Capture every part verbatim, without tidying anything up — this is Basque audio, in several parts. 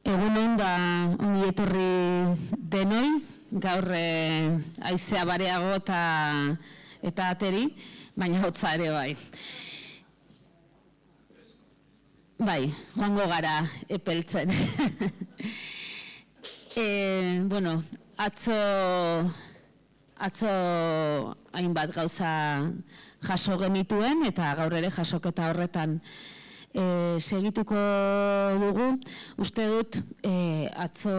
Egunon, ba, ongi etorri denoi, gaur haizea bareago eta ateri, baina hotza ere bai. Bai, joango gara epeltzen. Bueno, atzo, atzo hainbat gauza jaso genituen, eta gaur ere jasoketa horretan segituko dugu. Uste dut, atzo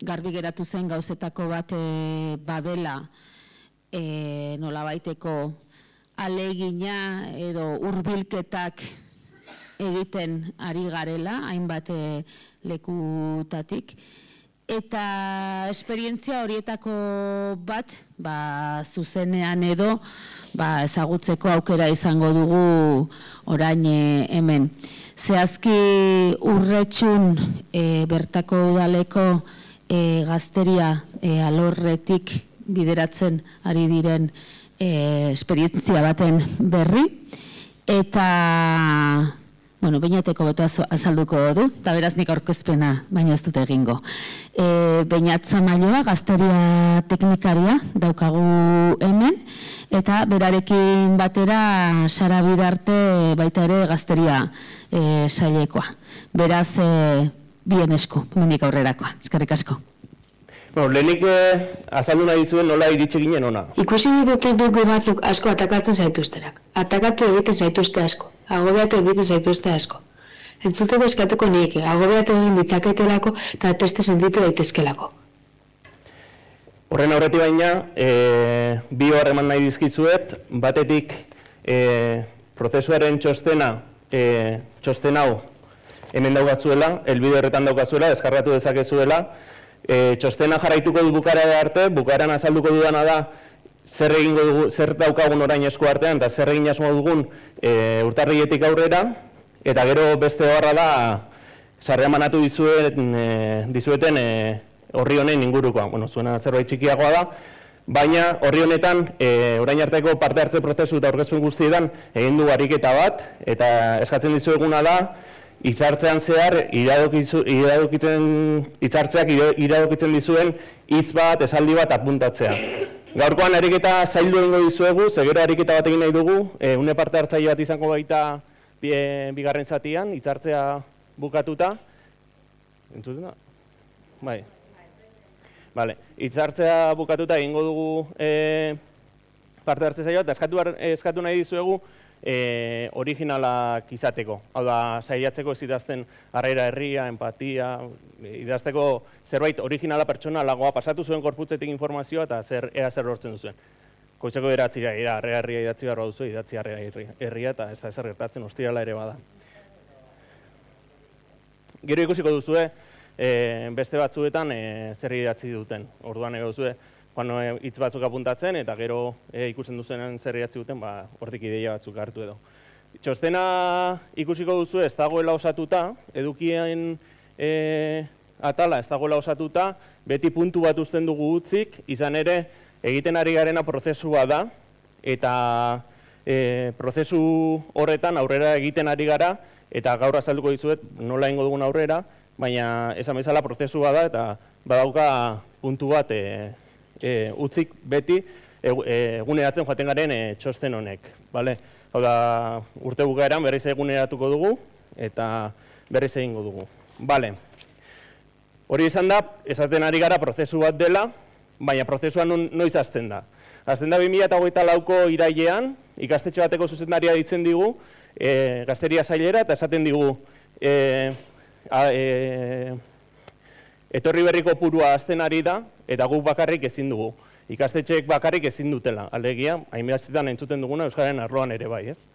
garbi geratu zen gauzetako bat badela nolabaiteko ahalegina edo hurbilketak egiten ari garela, hainbat lekutatik. Eta esperientzia horietako bat, zuzenean edo, ezagutzeko aukera izango dugu orain hemen. Zehazki Urretxun bertako udaleko gazteria alorretik bideratzen ari diren esperientzia baten berri. Eta, bueno, Beñateko boto azalduko du, eta beraz nik aurkezpena, baina ez dut egingo. Beñat Zamailoa, gazteria teknikaria, daukagu hemen, eta berarekin batera Sara Bidarte baita ere gazteria sailekoa. Beraz, bien esku, hemendik aurrerakoa. Eskerrik asko. Lehenik azaldu nahi zuen nola iritsi ginen ona. Ikusi dute dugu batzuk asko atakatzen zaituztenak. Atakatu egiten zaituzte asko. Agobiatu egiten zaituzte asko. Entzuteko eskatuko nik, agobiatu egin ditzaketelako eta teste sentitu daitezkelako. Horren aurretik baina, bi hor eman nahi dizkizuet, batetik prozesuaren txostena, txosten hau hemen daukazuela, elbide horretan daukazuela, deskargatu dezakezuela. Txostena jarraituko du bukaera arte, bukaeran azalduko dudana da zer egingo dugu, zer daukagun orain esku artean eta zer egin asmo dugun urtarriletik aurrera, eta gero beste horra da sarrera manatu dizueten horri honen ingurukoa. Bueno, zuena zerbait txikiagoa da, baina horri honetan orain arteko parte hartze prozesu eta aurkezpen guztietan egin du ariketa bat, eta eskatzen dizueguna da hitzartzean zehar, hitzartzeak iradokitzen dizuen hitz bat, esaldi bat apuntatzea. Gaurkoan ariketa zaildu egingo dizuegu, zegero ariketa bat egin nahi dugu, une parte hartzaile bat izango baita bigarren zatian, hitzartzea bukatuta. Entzuten da? Bai. Bale, hitzartzea bukatuta egingo dugu parte hartze zaila, eta eskatu nahi dizuegu originalak izateko. Hau da, saiatzeko ez idazten harrera herria, empatia, idazteko zerbait originala pertsonalagoa, pasatu zuen korputzetik informazioa eta ea zer lortzen duzuen. Goizeko beratzira, harrera herria idatzi barra duzu, idatzi harrera herria eta ez da ezer gertatzen, ostirala ere bada. Gero ikusiko duzue, beste batzuetan zer idatzi duten. Orduan ego duzue, hitz batzuk apuntatzen eta gero ikusten duzuenan zer idatzi duten, hortik ideia batzuk hartu edo. Txostena ikusiko duzu ez dagoela osatuta, edukien atala ez dagoela osatuta, beti puntu bat uzten dugu utzik, izan ere egiten ari garena prozesua da, eta prozesu horretan aurrera egiten ari gara, eta gaur azalduko dizuet nola egingo dugun aurrera, baina esan bezala prozesua da, eta badauka puntu bat utzik beti eguneratzen joaten garen txosten honek. Hau da, urte bukaeran berriz eguneratuko dugu eta berriz egingo dugu. Hori izan da, esaten ari gara prozesu bat dela, baina prozesua noiz hasten da. Hasten da bi mila hogeita lauko irailean, ikastetxe bateko zuzendaria ditzen digu, gazteria sailera, eta esaten digu etorri berriko purua hasten ari da, eta guk bakarrik ezin dugu. Ikastetxeek bakarrik ezin dutela, alegia, hainbestetan entzuten duguna Euskararen arloan ere bai, ez?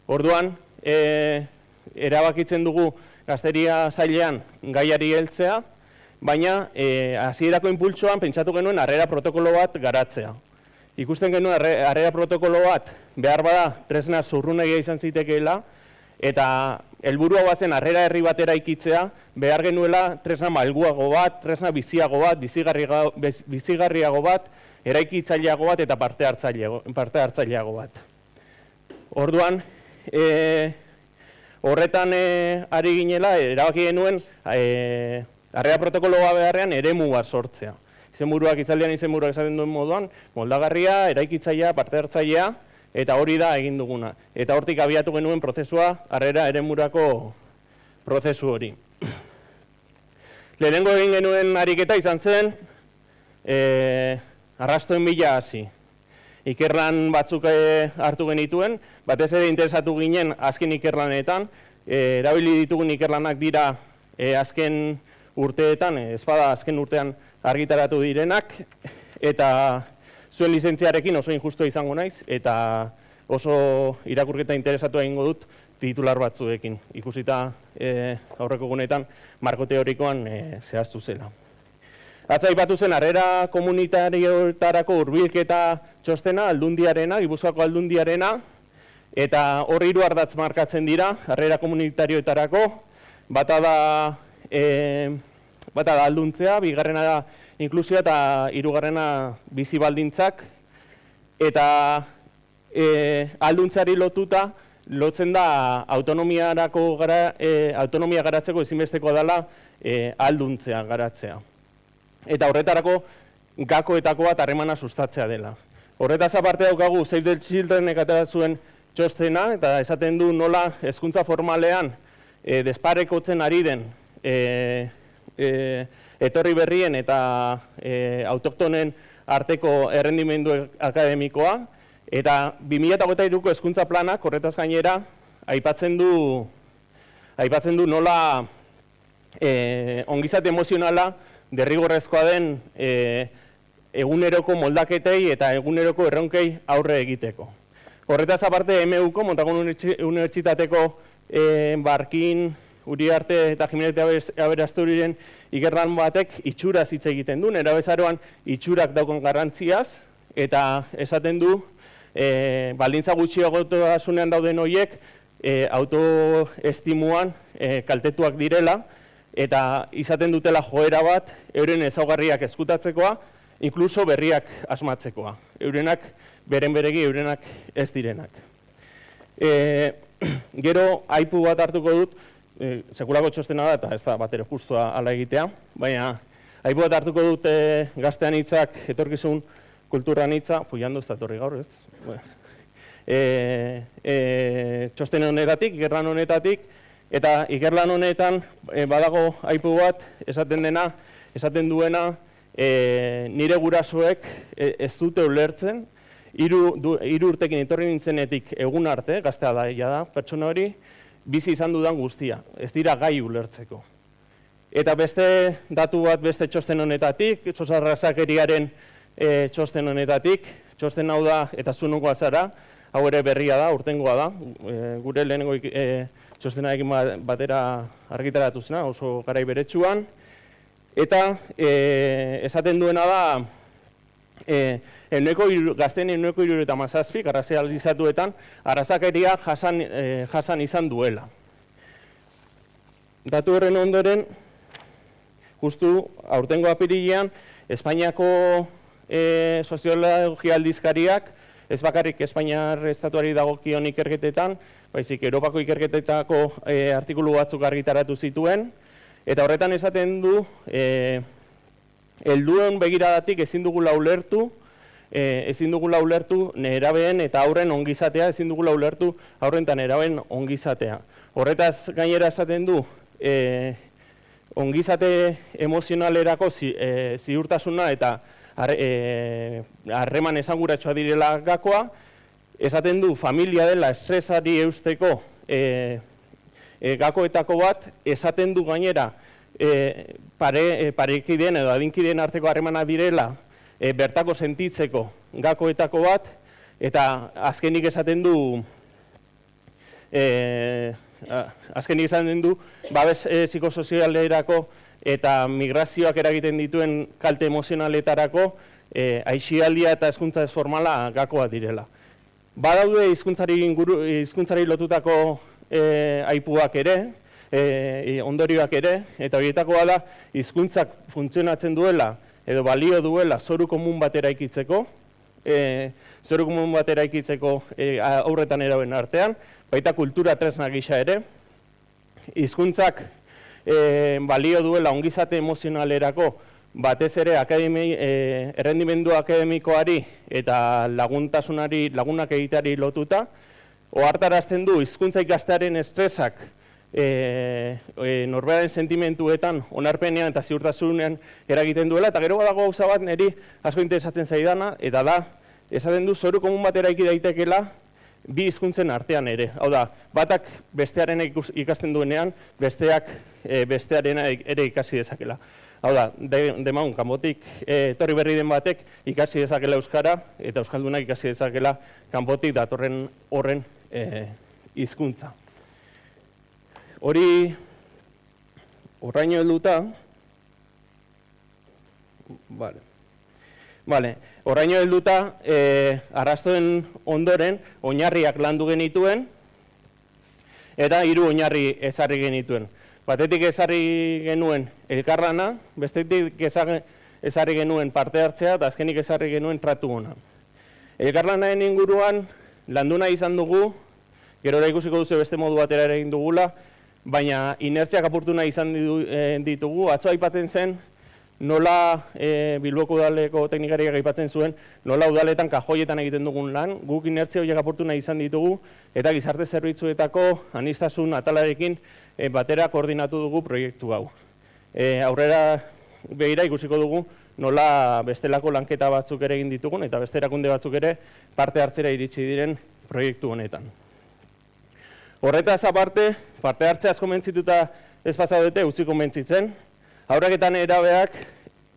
Orduan, erabakitzen dugu gazteria sailean gaiari heltzea, baina hasierako inpultsoan pentsatu genuen harrera protokolo bat garatzea. Ikusten genuen harrera protokolo bat behar bada tresna zurrunegia izan zitekeela, eta helburua bazen harrera herri batera ikitzea, behar genuela tresna malguago bat, tresna biziago bat, bizigarriago bat, eraikitzaileago bat eta parte hartzaileago bat. Orduan, horretan ari ginela, erabaki genuen harrera protokoloa beharrean eremu bat sortzea. Izenburuak itzaldian izenburuak esaten duen moduan, moldagarria, eraikitzailea, parte hartzailea, eta hori da egin duguna. Eta hortik abiatu genuen prozesua, harrera eremurako prozesu hori. Lehenengo egin genuen ariketa izan zen, e, arrastoen bila hasi. Ikerlan batzuk hartu genituen, batez ere interesatu ginen azken ikerlanetan, e, erabili ditugun ikerlanak dira e, azken urteetan, ez bada azken urtean argitaratu direnak, eta zuen lizentziarekin oso injustua izango naiz, eta oso irakurketa interesatu egingo dut titular batzuekin, ikusita e, aurreko gunetan marko teorikoan e, zehaztu zela. Atza aipatu zen harrera komunitarioetarako hurbilketa txostena, Aldundiarena, Gipuzkoako Aldundiarena, eta hor hiru ardatz markatzen dira harrera komunitarioetarako, bata da e, bata da alduntzea, bigarrena da inklusioa eta hirugarrena bizi baldintzak, eta e, alduntzeari lotuta lotzen da autonomiarako gara, e, autonomia garatzeko ezinbestekoa dela e, alduntzea garatzea. Eta horretarako gakoetako bat harremana sustatzea dela. Horretaz aparte daukagu Save the Childrenek atera zuen txostena, eta esaten du nola hezkuntza formalean e, desparekotzen ari den e, e, etorri berrien eta e, autoktonen arteko errendimendu akademikoa, eta bi mila hogeita hiruko hezkuntza planak horretaz gainera aipatzen du, aipatzen du nola e, ongizate emozionala derrigorrezkoa den e, eguneroko moldaketei eta eguneroko erronkei aurre egiteko. Horretaz aparte, M Uko, Montagun Unibertsitateko e, Barkin, Uriarte eta Jimenez Aberasturiren ikerlan batek itxuraz hitz egiten du, nerabezaroan itxurak daukon garrantziaz, eta esaten du, e, baldintza gutxiagotasunean dauden horiek e, autoestimuan e, kaltetuak direla, eta izaten dutela joera bat, euren ezaugarriak ezkutatzekoa, inkluso berriak asmatzekoa. Eurenak, beren beregi, eurenak ez direnak. E, gero, aipu bat hartuko dut, e, sekulako txostena da, eta ez da bat ere justua ala egitea, baina aipu bat hartuko dut e, gaztean hitzak, etorkizun kulturan hitza, fuiandu ez da etorri gaur, ez? Bueno. E, e, txosten honetatik, ikerlan honetatik, eta ikerlan honetan e, badago aipu bat esaten dena, esaten duena e, nire gurasoek e, ez dute ulertzen, hiru urtekin etorri nintzenetik egun arte, gaztea da, da, pertsona hori, bizi izan dudan guztia, ez dira gai ulertzeko. Eta beste datu bat beste txosten honetatik, txosarrazakeriaren e, txosten honetatik, txosten hau da eta zunukoa zara, hau ere berria da, urtengoa da, e, gure lehenengo e, txostenarekin batera argitaratu zena, oso garai beretsuan, eta e, esaten duena da, e, eneko iru, gazten eneko iru eta mazazpik, arrazializatuetan, arrazakeria jasan, e, jasan izan duela. Datu horren ondoren, justu aurtengo apirilean, Espainiako e, soziologia aldizkariak, ez bakarrik Espainiar estatuari dagokion ikerketetan, baizik Europako ikerketetako e, artikulu batzuk argitaratu zituen, eta horretan esaten du, e, helduen begiradatik ezin dugula ulertu, e, ezin dugula ulertu nerabeen eta aurren ongizatea, ezin dugula ulertu aurren eta nerabeen ongizatea. Horretaz gainera esaten du, e, ongizate emozionalerako zi, e, ziurtasuna eta harreman esanguratsua direla gakoa, esaten du familia dela estresari eusteko e, e, gakoetako bat, esaten du gainera e, pare, e, parekideen edo adinkideen arteko harremana direla e, bertako sentitzeko gakoetako bat, eta azkenik esaten du e, azkenik esaten du babes e, psikosozialerako eta migrazioak eragiten dituen kalte emozionaletarako e, aixialdia eta hezkuntza ez formala gakoa direla. Badaude hizkuntzari inguru hizkuntzari lotutako e, aipuak ere, e, ondorioak ere, eta horietakoa da hizkuntzak funtzionatzen duela edo balio duela zoru komun bat eraikitzeko, e, zoru komun bat eraikitzeko e, aurretan eraben artean, baita kultura tresna gisa ere. Hizkuntzak balio duela ongizate emozionalerako, batez ere errendimendu akademikoari eta laguntasunari, lagunak egiteari lotuta, ohartarazten du hizkuntza ikastearen estresak norberaren sentimentuetan, onarpenean eta ziurtasunean eragiten duela, eta gero badago gauza bat niri asko interesatzen zaidana, eta da, esaten du zoru komun bat eraiki daitekela bi hizkuntzen artean ere. Hau da, batak bestearen ikasten duenean, besteak bestearen ere ikasi dezakela. Hau da, demagun, kanpotik etorri berri den batek ikasi dezakela euskara, eta euskaldunak ikasi dezakela kanpotik datorren horren hizkuntza. Hori, horraino helduta, bale, bale, horraino helduta, arrastoen ondoren, oinarriak landu genituen, eta hiru oinarri ezarri genituen. Batetik ezarri genuen elkarlana, bestetik ezarri genuen parte hartzea, eta azkenik ezarri genuen tratu ona. Elkarlanaren inguruan, landu nahi izan dugu, gerora ikusiko duzu beste modu batera ere egin dugula, baina inertziak apurtu nahi izan ditugu. Atzo aipatzen zen, nola Bilboko udaleko teknikariak aipatzen zuen, nola udaletan kajoietan egiten dugun lan, guk inertzia horiek apurtu nahi izan ditugu, eta gizarte zerbitzuetako aniztasun atalarekin batera koordinatu dugu proiektu hau. Aurrera begira ikusiko dugu nola bestelako lanketa batzuk ere egin ditugun, eta beste erakunde batzuk ere parte hartzera iritsi diren proiektu honetan. Horretaz aparte, parte hartzea asko mentzituta ez pasaudete, utzi konbentzitzen. Haurrak eta nerabeak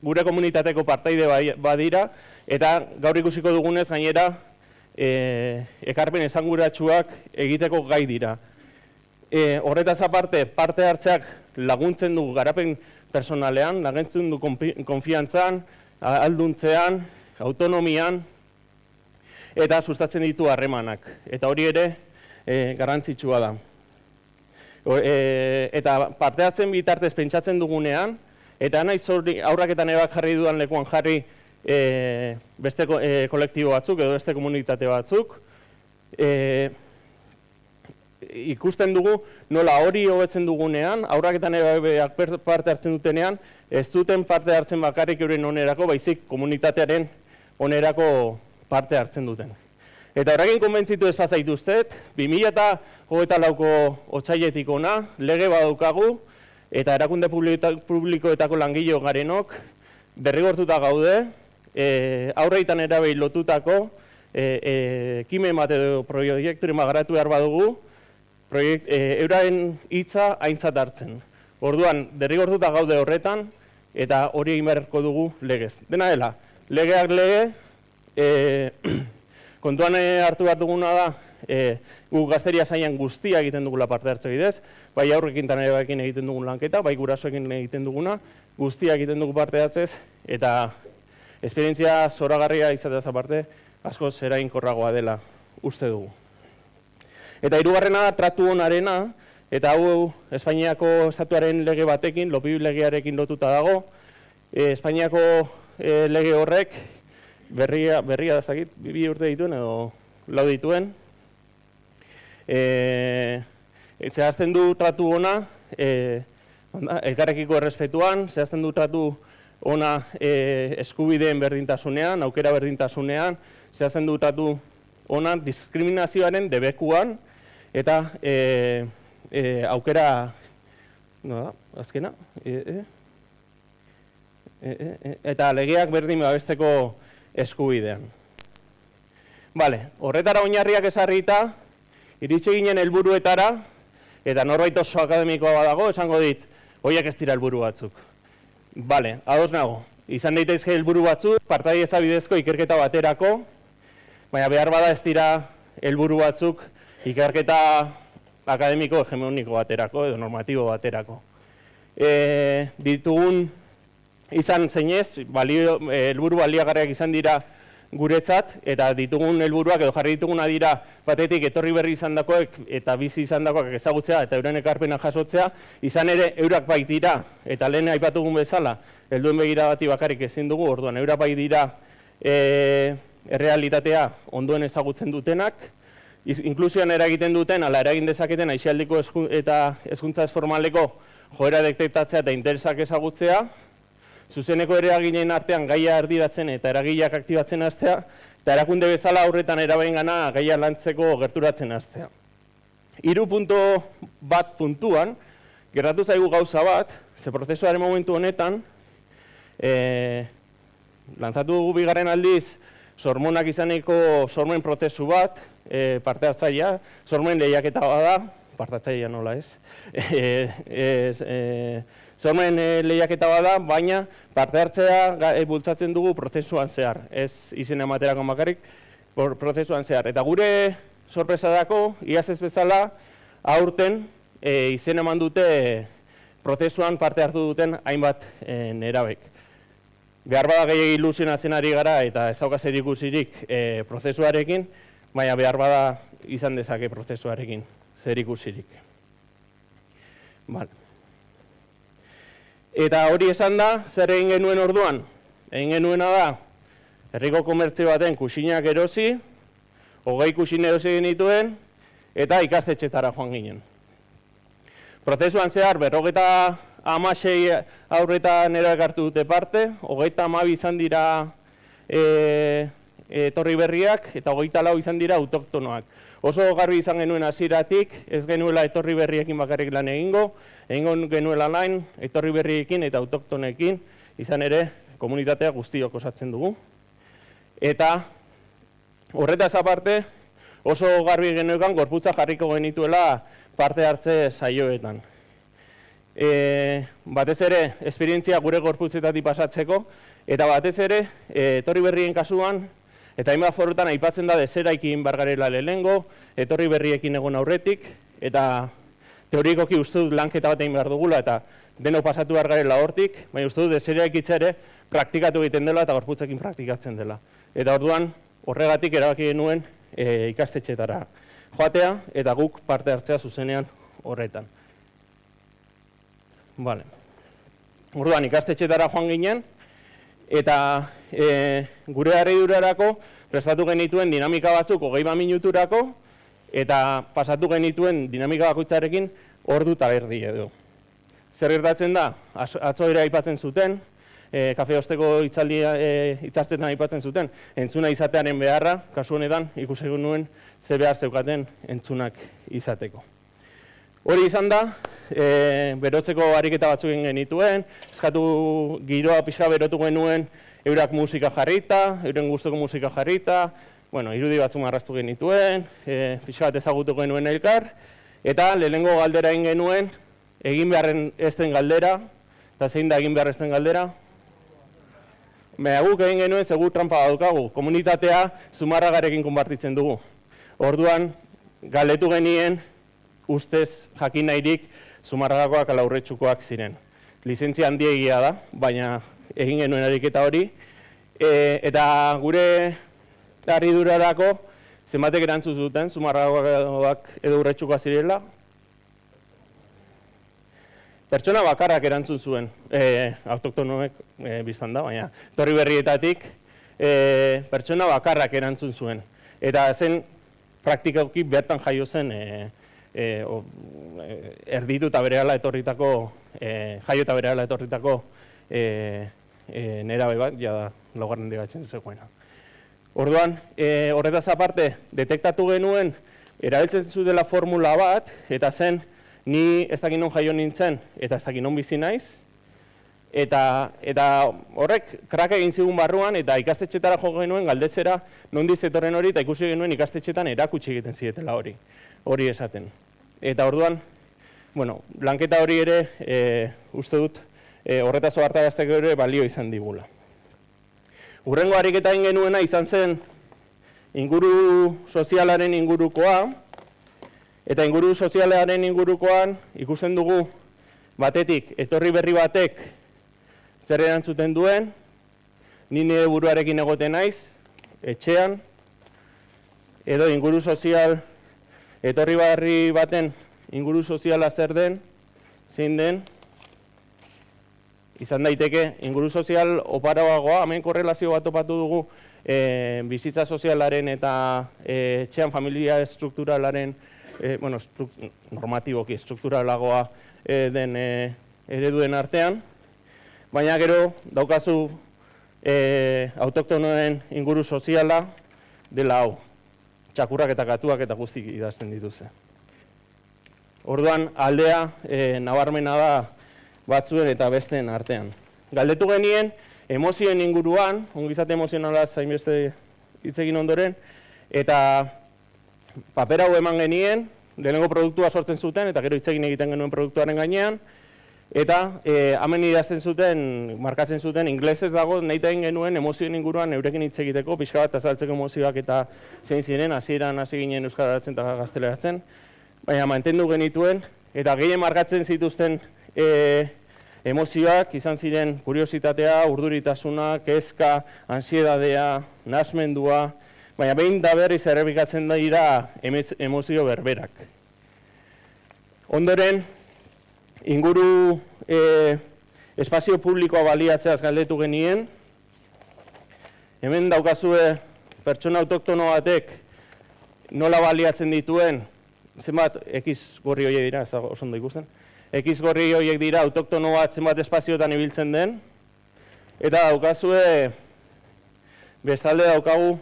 gure komunitateko partaide badira, eta gaur ikusiko dugunez gainera ekarpen esanguratsuak egiteko gai dira. Horretaz aparte, parte hartzeak laguntzen du garapen personalean, laguntzen du konfiantzan, alduntzean, autonomian, eta sustatzen ditu harremanak. Eta hori ere garrantzitsua da. Eta parte hartzen bitartez pentsatzen dugunean, eta naiz aurrak eta nebak jarri dudan lekuan jarri beste kolektibo batzuk edo beste komunitate batzuk, ikusten dugu nola hori hobetzen dugunean, aurrak eta nebak parte hartzen dutenean, ez duten parte hartzen bakarrik euren onerako, baizik komunitatearen onerako parte hartzen duten. Eta horrekin konbentzitu ez pazaituztet, bi mila hogeita lauko otsailetik ona, lege badaukagu, eta erakunde publikoetako langile garenok derrigortuta gaude, aurreitan erabei lotutako ekimen bat edo proiekturen magaratu behar badugu, euraren hitza aintzat hartzen. Orduan, derrigortuta gaude horretan, eta hori egin beharko dugu legez. Dena dela, legeak lege, kontuan hartu behar duguna da, gu gazteria zainan guztia egiten dugula parte hartze bidez, bai aurrekin eta nerekin egiten dugun lanketa, bai gurasoekin egiten duguna, guztia egiten dugu parte hartzez, eta esperientzia zoragarria izateaz aparte, askoz eraginkorragoa dela uste dugu. Eta hirugarrena da tratu onarena, eta hau Espainiako estatuaren lege batekin, Lopi legearekin lotuta dago, Espainiako lege horrek, berria da zakit, bi urte dituen edo lau dituen. Zehazten du tratu ona, elkarrekiko errespetuan, zehazten du tratu ona eskubideen berdintasunean, aukera berdintasunean, zehazten du tratu ona diskriminazioaren debekuan, eta aukera, no da, azkena, eta legeak berdin babesteko eskubidean. Bale, horretara oinarriak ezarrita, iritsi ginen helburuetara, eta norbait oso akademikoa badago, esango dit, horiek ez dira helburu batzuk. Bale, ados nago, izan daitezke helburu batzuk, partaidetza bidezko ikerketa baterako, baina behar bada ez dira helburu batzuk ikerketa akademiko hegemoniko baterako edo normatibo baterako. Ditugun izan zeinez, helburu baliagarriak izan dira guretzat, eta ditugun helburuak edo jarri dituguna dira batetik etorri berri izan dakoek eta bizi izan dakoak ezagutzea eta euren ekarpena jasotzea, izan ere eurak bai dira, eta lehen aipatugun bezala, helduen begira bati bakarrik ezin dugu, orduan eurak bai dira errealitatea ondoen ezagutzen dutenak, inklusioan eragiten duten, ala eragin dezaketen aisialdiko eta hezkuntza ez formaleko joera detektatzea eta interesak ezagutzea, zuzeneko eraginen artean gaia erdiratzen eta eragileak aktibatzen hastea, eta erakunde bezala aurretan erabaingana gaia lantzeko gerturatzen hastea. Hiru puntu bat puntuan, gertatu zaigu gauza bat, ze prozesuaren momentu honetan, e, lantzatu dugu bigarren aldiz, sormonak izaneko sormen prozesu bat, e, parte hartzailea, sormen lehiaketa bada, parte hartzailea nola ez, e, e, e, sormen e, lehiaketa bada, baina parte hartzea e, bultzatzen dugu prozesuan zehar, ez izen ematerako bakarrik, prozesuan zehar. Eta gure sorpresadako, iaz ez bezala, aurten e, izen eman dute prozesuan parte hartu duten hainbat e, nerabek. Behar bada gehiagin ilusionatzen ari gara eta ez dauka zer ikusirik e, prozesuarekin, baina behar bada izan dezake prozesuarekin zer ikusirik. Vale. Eta hori esan da, zer egin genuen orduan? Egin genuena da, herriko komertzio baten kuxinak erosi, hogei kuxin erosi genituen, eta ikastetxetara joan ginen. Prozesuan zehar, berrogeta hamasei aurretan eroek hartu dute parte, hogeita hamabi izan dira e, etorri berriak, eta hogeita lau izan dira autoktonoak. Oso garbi izan genuen hasieratik, ez genuela etorri berriekin bakarrik lan egingo, egingo genuela lan etorri berriekin eta autoktonekin, izan ere komunitatea guztiok osatzen dugu. Eta horretaz aparte, oso garbi genuekan gorputza jarriko genituela parte hartze saioetan. E, batez ere, esperientzia gure gorputzetatik pasatzeko, eta batez ere, e, etorri berrien kasuan, eta hainbat forutan aipatzen da deseraekin bargarela lehengo, etorri berriekin egon aurretik, eta teorikoki uste dut lanketa bat egin behar dugula, eta denok pasatu bargarela hortik, baina uste dut deseraekitza ere praktikatu egiten dela eta gorputzekin praktikatzen dela. Eta orduan, horregatik erabaki genuen e, ikastetxetara joatea, eta guk parte hartzea zuzenean horretan. Vale. Orduan, ikastetxetara joan ginen, eta e, gure harridurarako prestatu genituen dinamika batzuk hogei bat minuturako, eta pasatu genituen dinamika bakoitzarekin ordu eta erdi edo. Zer gertatzen da? Atzo ere aipatzen zuten, e, kafe osteko hitzaldia e, hitzartzetan aipatzen zuten, entzuna izatearen beharra, kasu honetan ikusi nuen ze behar zeukaten entzunak izateko. Hori izan da, e, berotzeko ariketa batzuk egin genituen, eskatu giroa pixka berotu genuen eurak musika jarrita, euren gustoko musika jarrita, bueno, irudi batzuk marraztu genituen, e, pixka bat ezagutu genuen elkar, eta lehenengo galdera egin genuen, egin beharren ez den galdera, eta zein da egin behar ez den galdera? Baina guk egin genuen segur trampa daukagu, komunitatea Zumarragarekin konpartitzen dugu. Orduan, galdetu genien, ustez jakin nahirik Zumarragakoak ala Urretxukoak ziren. Lizentzia handiegia da, baina egin genuen ariketa hori. E, eta gure harridurarako zenbatek erantzun zuten Zumarragakoak edo Urretxukoak zirela. Pertsona bakarrak erantzun zuen, e, autoktonoek e, biztan da, baina etorri berrietatik e, pertsona bakarrak erantzun zuen. Eta zen praktikoki bertan jaio zen e, E, o, e, erditu eta berehala etorritako, e, jaio eta berehala etorritako e, e, nerabe bat, ja da, laugarren digatzen zegoena. Orduan, e, horretaz aparte, detektatu genuen, erabiltzen zutela formula bat, eta zen, ni ez dakit non jaio nintzen, eta ez dakit non bizi naiz, eta, eta horrek krak egin zigun barruan, eta ikastetxetara jo genuen galdetzera nondiz etorren hori, eta ikusi genuen ikastetxetan erakutsi egiten zietela hori. hori esaten. Eta orduan, bueno, lanketa hori ere, e, uste dut, e, horretaz ohartarazteko ere balio izan digula. Hurrengo ariketa egin genuena izan zen inguru sozialaren ingurukoa, eta inguru sozialaren ingurukoan ikusten dugu batetik, etorri berri batek zer erantzuten duen, ni nire buruarekin egoten naiz, etxean, edo inguru sozial, etorri berri baten inguru soziala zer den, zein den, izan daiteke inguru sozial oparoagoa, hemen korrelazio bat topatu dugu e, bizitza sozialaren eta e, etxean familia estrukturalaren bueno, normatiboki, strukturalagoa den ereduen artean, baina gero daukazu autoktonoen inguru soziala dela hau, txakurrak eta katuak eta guztik idazten dituzte. Orduan, aldea nabarmena da batzuen eta besteen artean. Galdetu genien, emozioen inguruan, ongizate emozionala zainbeste hitz egin ondoren, eta paper hau eman genien, lehenengo produktua sortzen zuten, eta gero hitz egin egiten genuen produktuaren gainean, eta hemen idazten zuten, markatzen zuten, inglesez dago, nahi egin genuen emozioen inguruan eurekin hitz egiteko, pixka bat azaltzeko emozioak eta zein ziren, hasieran hasi ginen euskaratzen eta gazteleratzen, baina mantendu genituen, eta gehien markatzen zituzten emozioak izan ziren kuriositatea, urduritasuna, kezka, ansiedadea, nahasmendua, baina behin da berriz errepikatzen dira emozio berberak. Ondoren, inguru espazio publikoa baliatzeaz galdetu genien, hemen daukazue pertsona autoktono batek nola baliatzen dituen, zenbat X gorri horiek dira, ez da oso ondo ikusten, X gorri horiek dira autoktono bat zenbat espazioetan ibiltzen den, eta daukazue bestalde daukagu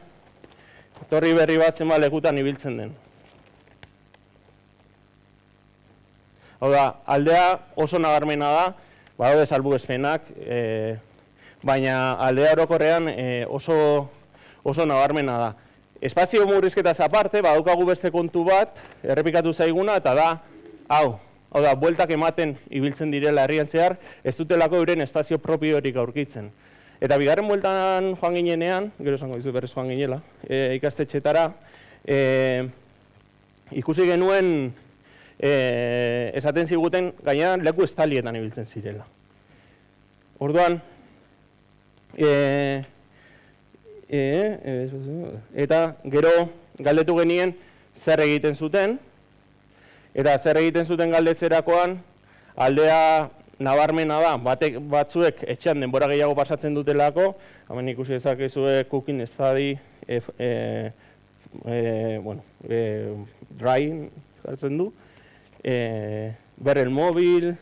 torri berri bat zenbat lekutan ibiltzen den. Hau da, aldea oso nabarmena da, badaude salbuespenak, baina aldea orokorrean oso nabarmena da. Espazio murrizketaz aparte, badaukagu beste kontu bat, errepikatu zaiguna, eta da, hau, hau da, bueltak ematen ibiltzen direla herrian zehar, ez dutelako euren espazio propiorik aurkitzen. Eta bigarren bueltan joan ginenean, gero esango dizu berrez joan ginela, ikastetxetara, ikusi genuen, esaten ziguten gainean leku estalietan ibiltzen zirela. Orduan, eta gero galdetu genien zer egiten zuten, eta zer egiten zuten galdetzerakoan aldea nabarmena da, batzuek etxean denbora gehiago pasatzen dutelako, hemen ikusi dezakezue cooking study, drying jartzen du, ber el mobil,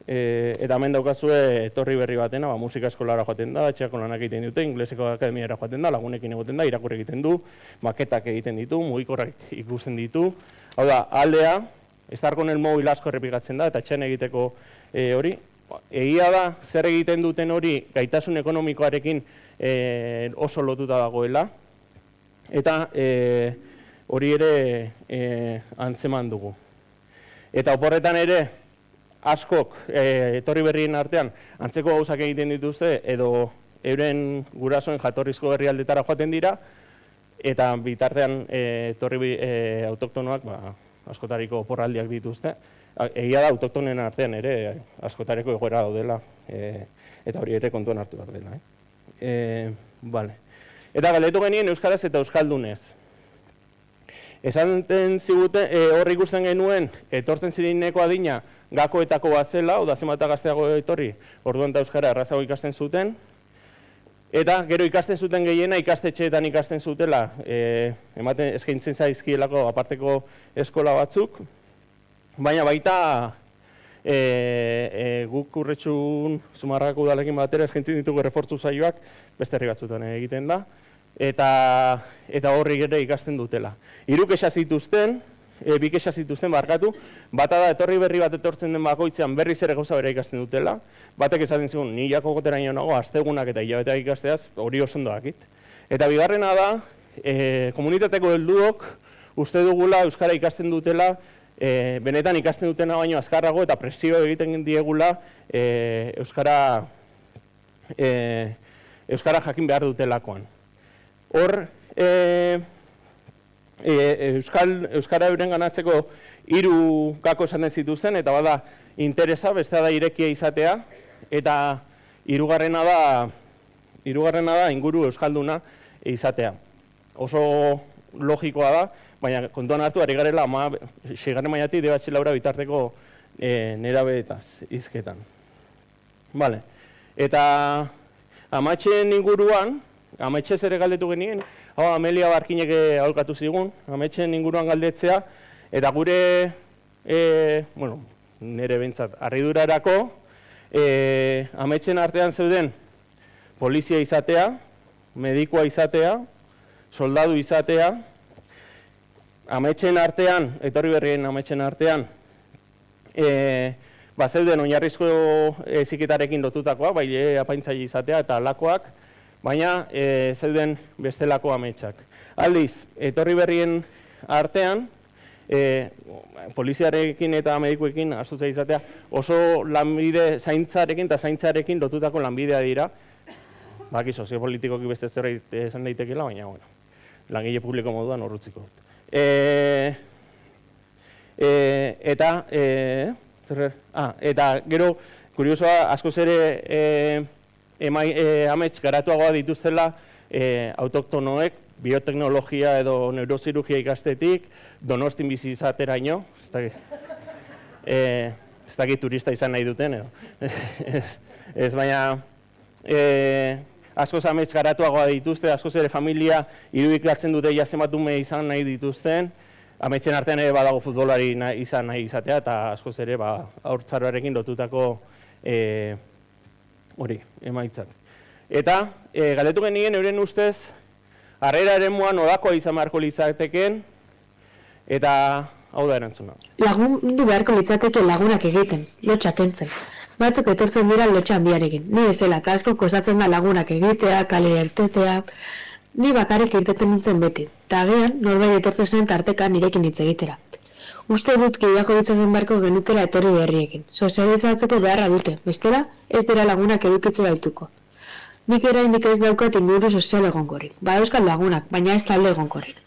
eta hemen daukazue etorri berri batena, musika eskolara joaten da, etxeako lanak egiten dute, ingleseko akademiara joaten da, lagunekin egoten da, irakurri egiten du, maketak egiten ditu, mugikorrak ikusten ditu. Hau da, aldea, estar con el mobil asko errepikatzen da, eta etxean egiteko hori. Egia da, zer egiten duten hori gaitasun ekonomikoarekin oso lotuta dagoela, eta hori ere antzeman dugu. Eta oporretan ere, askok etorri berrien artean antzeko gauzak egiten dituzte edo euren gurasoen jatorrizko herrialdetara joaten dira, eta bitartean etorri autoktonoak askotariko oporraldiak dituzte. Egia da, autoktonen artean ere askotariko egoera daudela, eta hori ere kontuan hartu behar dela. Eta galdetu genien euskaraz eta euskaldunez. Esaten ziguten, hor ikusten genuen, etortzen zireneko adina gakoetako bat zela, oda zenbata gazteago etorri, orduan eta euskara errazago ikasten zuten, eta gero ikasten zuten gehiena ikastetxeetan ikasten zutela, ematen eskaintzen zaizkielako aparteko eskola batzuk, baina baita guk Urretxun Zumarragako udalekin batera eskaintzen ditugu errefortzu saioak beste herri batzutan egiten da, eta horri ere ikasten dutela. Hiru kexa zituzten, bi kexa zituzten barkatu, bata da etorri berri bat etortzen den bakoitzean berriz ere gauza bera ikasten dutela, batek esaten zigun, ni jako goteraino nago, astegunak eta hilabeteak ikasteaz, hori oso ondo dakit. Eta bigarrena da, komunitateko helduok uste dugula euskara ikasten dutela, benetan ikasten dutena baino azkarrago eta presio egiten diegula euskara jakin behar dutelakoan. Hor, euskara euren ganatzeko hiru gako esaten zituzten, eta bada interesa, bestea da irekia izatea, eta hirugarrena da hirugarrena da inguru euskalduna izatea. Oso logikoa da, baina kontuan hartu ari garela seigarren mailatik de batxelaura bitarteko nerabeetaz hizketan. Eta amatxeen inguruan, ametxez ere galdetu genien, hau Amelia Barkinek aholkatu zigun, ametxen inguruan galdetzea, eta gure, e, bueno, nire bentsat, harridurarako, e, ametxen artean zeuden polizia izatea, medikua izatea, soldadu izatea, ametxen artean, etorri berrien ametxen artean, e, ba, zeuden oinarrizko heziketarekin lotutakoak, bai apaintzaile izatea eta alakoak, baina e, zeuden bestelako ametxak. Aldiz, etorri berrien artean, e, poliziarekin eta medikuekin astutzea izatea, oso lanbide zaintzarekin eta zaintzarekin lotutako lanbidea dira, baki soziopolitikoki beste zerbait esan daitekeela, baina, bueno, langile publiko moduan horrutziko dut. E, e, eta, e, zer, ah, eta gero, kuriosoa, askoz ere e, emai, e, amets garatuagoa dituztela e, autoktonoek, bioteknologia edo neurozirurgia ikastetik, Donostin bizi izateraino, ez dakit, e, ez dakit turista izan nahi duten, edo. ez, ez baina, e, askoz amets garatuagoa dituzte, askoz ere familia irudikatzen dute zenbatume izan nahi dituzten, ametxen artean ere badago futbolari izan nahi izatea, eta askoz ere ba, haurtzaroarekin lotutako e, hori, emaitzak. Eta, e, galdetu genien euren ustez, harrera eremuan nodakoa izan beharko litzateken, eta hau da erantzuna. Lagundu beharko litzateke lagunak egiten, lotxak kentzen. Batzuk etortzen dira lotxa handiarekin. Ni bezala, asko kostatzen da lagunak egitea, kale irtetea. Ni bakarrik irteten nintzen beti. Ta agian, norbait etortzen zen tarteka nirekin hitz egitera. Uste dut gehiago ditzatzen beharko genutela etorri berriekin. Sozializatzeko beharra dute, bestela ez dira lagunak edukitzera dituko. Nik erainik ez daukat inguru sozial egonkorrik. Ba euskal lagunak, baina ez talde egonkorrik.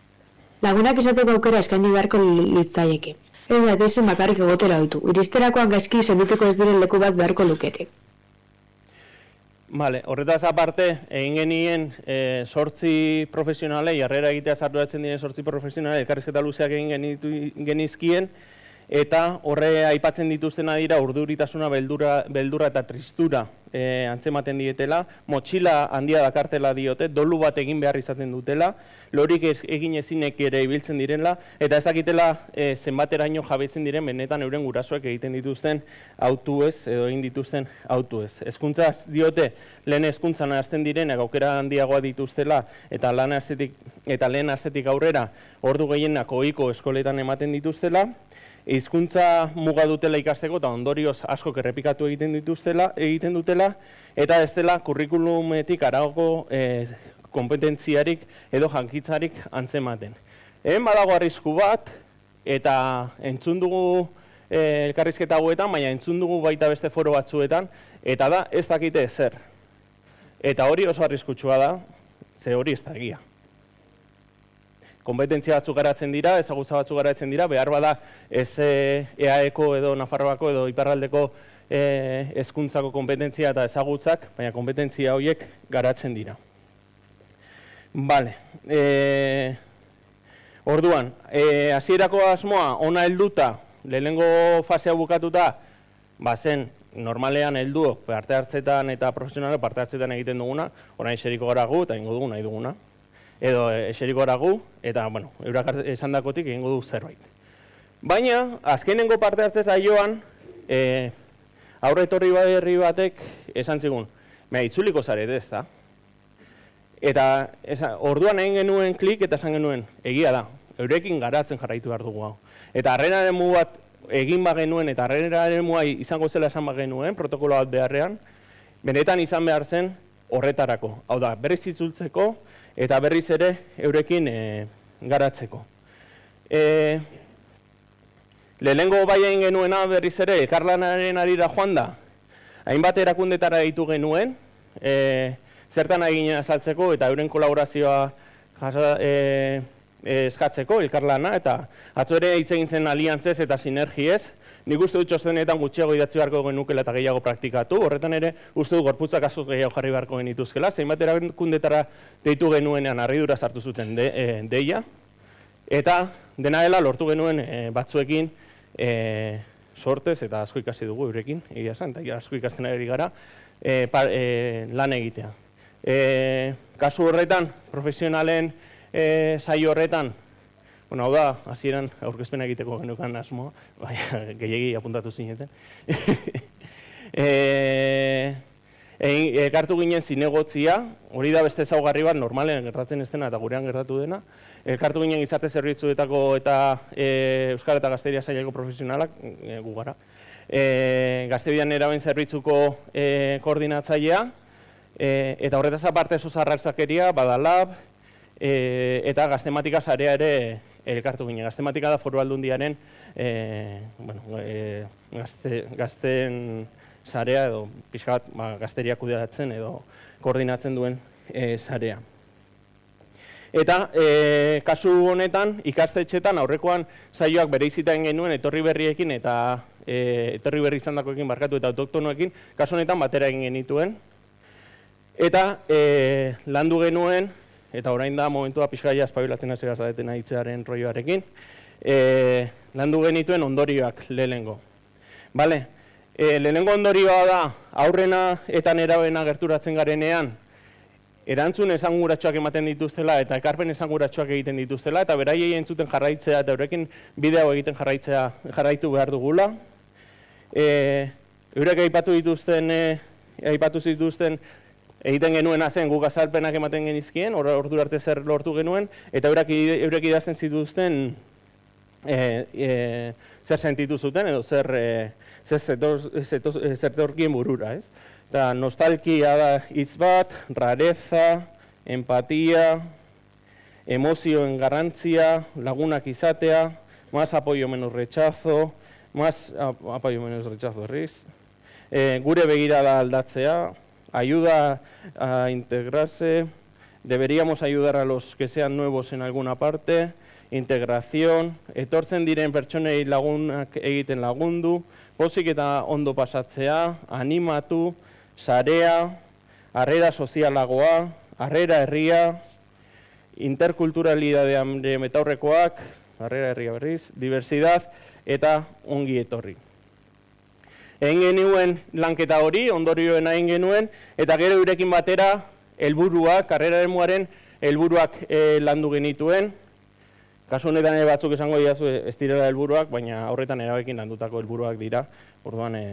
Lagunak izateko aukera eskaini beharko litzaieke. Ez da, ezin bakarrik egotera ditu. Iristerakoan gaizki sendituko ez diren leku bat beharko lukete. Vale, horretaz aparte, egin genien e, sortzi profesionalei, harrera egitea arduratzen diren sortzi profesionalei, elkarrizketa luzeak egin genitu, genizkien, eta horre aipatzen dituztena dira urduritasuna, beldura, beldurra eta tristura e, antzematen dietela, motxila handia dakartela diote, dolu bat egin behar izaten dutela, lorik egin ezinek ere ibiltzen direla, eta ez dakitela e, zenbateraino jabetzen diren benetan euren gurasoek egiten dituzten autuez, edo egin dituzten autuez. Hezkuntzaz diote, lehen hezkuntzan hasten direnak aukera handiagoa dituztela, eta lan astetik, eta lehen astetik aurrera ordu gehienak ohiko eskoletan ematen dituztela, hizkuntza muga dutela ikasteko eta ondorioz asko errepikatu egiten dituztela, egiten dutela, eta ez dela kurrikulumetik harago e, kompetentziarik edo jankitzarik antzematen. Hemen badago arrisku bat, eta entzun dugu e, elkarrizketa hauetan, baina entzun dugu baita beste foro batzuetan, eta da ez dakite ezer. Eta hori oso arriskutsua da, ze hori ez da egia. Kompetentzia batzuk garatzen dira, ezagutza batzuk garatzen dira, behar bada ez E A Eko edo Nafarroako edo Iparraldeko hezkuntzako kompetentzia eta ezagutzak, baina kompetentzia horiek garatzen dira. Bale, e, orduan, e, hasierako asmoa ona helduta, lehenengo fasea bukatuta, bazen normalean helduok parte hartzetan eta profesionalak parte hartzetan egiten duguna, orain eseriko gara gu eta egingo dugu nahi duguna. Edo eseriko gara gu, eta, bueno, eurak esan dakotik egingo du zerbait. Baina, azkenengo parte hartze zaioan, e, aurre etorri berri batek esan zigun, mea, itzuliko zarete ez da. Eta esa, orduan egin genuen klik eta esan genuen, egia da, eurekin garatzen jarraitu behar dugu hau. Eta harrenaren mu bat egin bagenuen eta harrenaren mua izango zela esan bagenuen, protokolo bat beharrean, benetan izan behar zen horretarako. Hau da, berriz itzultzeko, eta berriz ere eurekin e, garatzeko. E, lehenengo bai egin genuena berriz ere, elkarlanaren arira joan da, hainbat erakundetara ditu genuen, e, zertan egin azaltzeko eta euren kolaborazioa jasa, e, e, eskatzeko, elkarlana, eta atzo ere hitz egin zen aliantzez eta sinergiez, nik uste dut txostenetan gutxiago idatzi beharko genukela eta gehiago praktikatu, horretan ere uste dut gorputzak asko gehiago jarri beharko genituzkela, zeinbat erakundetara deitu genuenean harridura sartu zuten de, e, deia, eta dena dela lortu genuen e, batzuekin e, sortez eta asko ikasi dugu eurekin, egia esan, eta asko ikasten ari gara, e, par, e, lan egitea. E, kasu horretan, profesionalen e, saio horretan, bueno, hau da, hasieran aurkezpena egiteko genukan asmoa, baina gehiegi apuntatu zineten. e, Elkartu ginen zinegotzia, hori da beste ezaugarri bat, normalean gertatzen ez dena eta gurean gertatu dena. Elkartu ginen gizarte zerbitzuetako eta e, Euskara eta Gazteria saileko profesionalak, e, gu gara. E, Gazterian eraben zerbitzuko e, koordinatzailea, e, eta horretaz aparte sozarrakzakeria, badalab, e, eta gaztematika sarea ere elkartu ginen. Gaztematika da Foru Aldundiaren e, bueno, e, gazte, gazten sarea edo pixka bat ba, gazteria kudeatzen edo koordinatzen duen e, sarea. Eta e, kasu honetan ikastetxetan aurrekoan saioak bereizitaen genuen etorri berriekin eta e, etorri berri izandakoekin barkatu eta autoktonoekin, kasu honetan batera egin genituen. Eta e, landu genuen, eta orain da momentua pixka ja espabilatzen hasi gazadeten ahitzearen roioarekin, e, landu genituen ondorioak lehenengo. Bale? E, lehenengo ondorioa da, aurrena eta nerabena gerturatzen garenean, erantzun esanguratsuak ematen dituztela eta ekarpen esanguratsuak egiten dituztela, eta beraiei entzuten jarraitzea eta eurekin bideo egiten jarraitzea jarraitu behar dugula. E, eurek aipatu dituzten, e, aipatu zituzten egiten genuena zen guk azalpenak ematen genizkien, ordura arte zer lortu genuen, eta eurek, eurek idazten zituzten e, e, zer sentitu zuten edo zer e, zertorkien burura, ez? Eta nostalgia da hitz bat, rareza, empatia, emozioen garrantzia, lagunak izatea, más apoyo menos rechazo, más apoyo menos rechazo, erriz. E, gure begirada aldatzea, ayuda a integrarse, deberíamos ayudar a los que sean nuevos en alguna parte, integración, etortzen diren pertsonei lagunak egiten lagundu, pozik eta ondo pasatzea, animatu, sarea, harrera sozialagoa, harrera herria, interkulturalidadean metaurrekoak, harrera herria berriz, diversidad eta ongi etorri. Egin genuen lanketa hori, ondorioen egin genuen, eta gero eurekin batera helburuak, karrera eremuaren helburuak e, landu genituen. Kasu honetan ere batzuk esango diazu ez direla helburuak, baina horretan erabekin landutako helburuak dira, orduan e,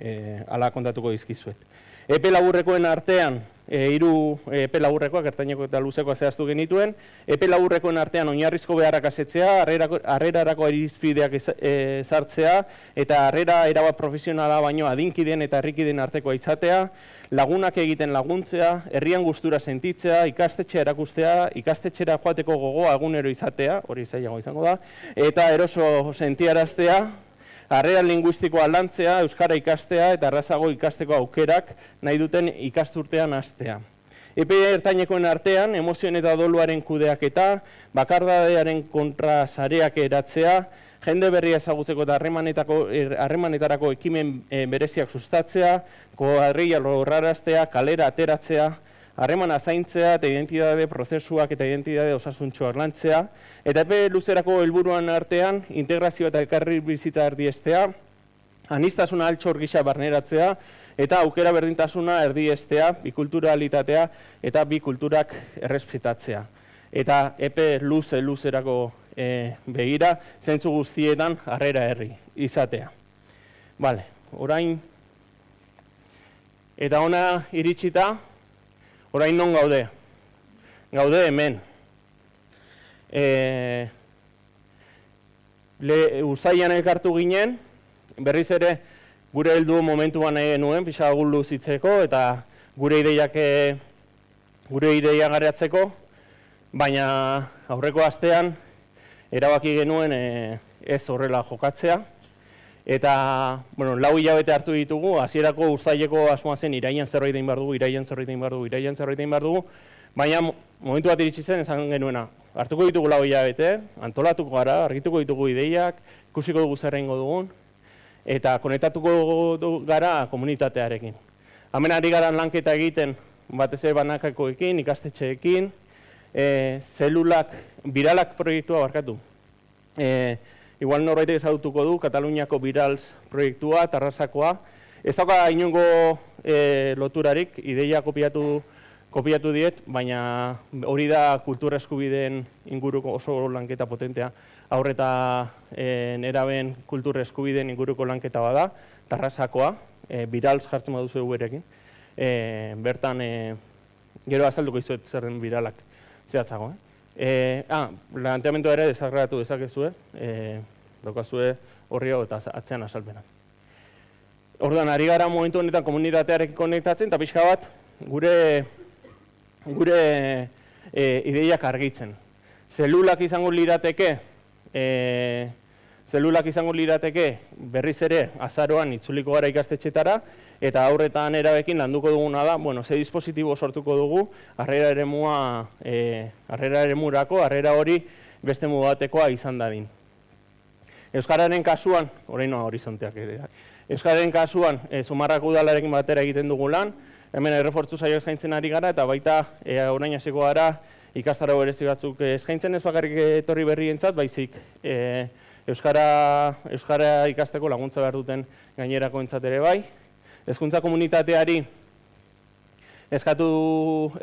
e, ala kontatuko dizkizuet. Epe laburrekoen artean, e, hiru epe laburrekoak, ertaineko eta luzekoa zehaztu genituen, epe laburrekoen artean oinarrizko beharrak asetzea, harrerarako irizpideak ezartzea, eta harrera erabat profesionala baino adinkideen eta herrikideen artekoa izatea, lagunak egiten laguntzea, herrian gustura sentitzea, ikastetxea erakustea, ikastetxera joateko gogoa egunero izatea, hori zailago izango da, eta eroso sentiaraztea, harrera linguistikoa lantzea, euskara ikastea eta errazago ikasteko aukerak nahi duten ikasturtean hastea. Epe ertainekoen artean, emozioen eta doluaren kudeaketa, bakardadearen kontra sareak eratzea, jende berria ezagutzeko eta harremanetarako ekimen bereziak sustatzea, koadrilla lorraraztea, kalera ateratzea, harremana zaintzea eta identitate prozesuak eta identitate osasuntxoak lantzea, eta epe luzerako helburuan artean integrazio eta elkarri bizitza erdiestea, aniztasuna altxor gisa barneratzea, eta aukera berdintasuna erdiestea, bikulturalitatea eta bikulturak errespetatzea. Eta epe luze luzerako e, begira, zentzu guztietan harrera herri izatea. Bale, orain, eta ona iritsita, orain non gaude? Gaude hemen. E, Uztailean elkartu ginen, berriz ere gure heldu momentuan nahi genuen, pixa guldu zitzeko eta gure ideiak gure ideia garatzeko, baina aurreko astean erabaki genuen e, ez horrela jokatzea. Eta, bueno, lau hilabete hartu ditugu, hasierako uztaileko asmoa zen iraian zerbait egin behar dugu, iraian zerbait egin behar dugu, iraian zerbait egin behar dugu, baina momentu bat iritsi zen esan genuena. Hartuko ditugu lau hilabete, antolatuko gara, argituko ditugu ideiak, ikusiko dugu zer egingo dugun, eta konektatuko gara komunitatearekin. Hemen ari gara lanketa egiten, batez ere banakakoekin, ikastetxeekin, e, zelulak, biralak proiektua barkatu. E, Igual norbaitek ezagutuko du, Kataluniako Birals proiektua, Tarrasakoa. Ez dauka inongo e, loturarik, ideia kopiatu kopiatu diet, baina hori da kultura eskubideen inguruko oso lanketa potentea. Haur eta e, nerabeen kultura eskubideen inguruko lanketa bada, Tarrasakoa, e, Birals jartzen baduzu eguerekin. E, bertan, e, gero azalduko izuet zerren biralak zehatzago. Eh? E, ah, planteamendua ere desagregatu dezakezue, e, daukazue horri hau eta atzean azalpena. Orduan, ari gara momentu honetan komunitatearekin konektatzen, eta pixka bat gure, gure e, ideiak argitzen. Zelulak izango lirateke, e, zelulak izango lirateke berriz ere azaroan itzuliko gara ikastetxetara, eta aurretan erabekin landuko duguna da, bueno, ze dispositibo sortuko dugu, harrera eremua, e, harrera eremurako, harrera hori beste mugatekoa izan dadin. Euskararen kasuan, orain noa horizonteak ere, Euskararen kasuan, e, Zumarrako udalarekin batera egiten dugu lan, hemen errefortzu saio eskaintzen ari gara, eta baita e, orain hasiko gara ikastaro berezi batzuk eskaintzen, ez bakarrik etorri berrientzat, baizik e, Euskara, Euskara ikasteko laguntza behar duten gainerako entzat ere bai. Hezkuntza komunitateari eskatu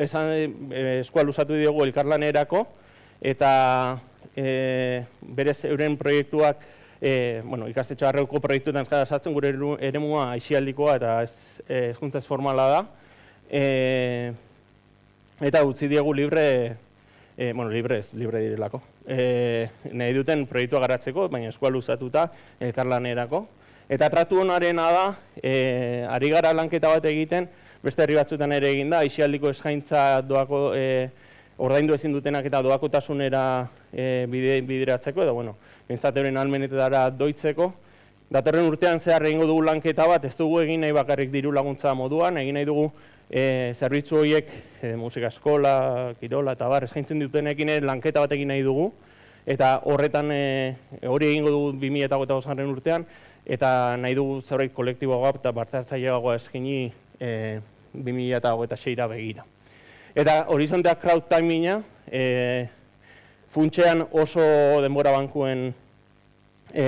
esan, e, eskua luzatu diogu elkarlanerako, eta e, berez euren proiektuak E, bueno, ikastetxe barreuko proiektuetan sartzen gure eremua aisialdikoa eta hezkuntza ez formala da. E, eta utzi diegu libre, e, bueno, libre ez, libre direlako. E, nahi duten proiektua garatzeko, baina eskua luzatuta elkarlanerako. Eta tratu honarena da, e, ari gara lanketa bat egiten, beste herri batzuetan ere egin da, aisialdiko eskaintza doako, e, ordaindu ezin dutenak eta doakotasunera e, bide, bideratzeko, edo, bueno, bintzat euren almenetetara doitzeko. Datorren urtean zehar egingo dugu lanketa bat, ez dugu egin nahi bakarrik diru laguntza moduan, egin nahi dugu e, zerbitzu horiek, e, musika eskola, kirola eta bar, eskaintzen dutenekin ere lanketa bat egin nahi dugu, eta horretan e, hori egingo dugu bi mila hogeita bosgarren urtean, eta nahi dugu zerbait kolektiboagoa eta parte-hartzaileagoa eskaini e, bi mila hogeita seira begira. Eta horizonteak crowd timinga, e, funtsean oso denbora bankuen e,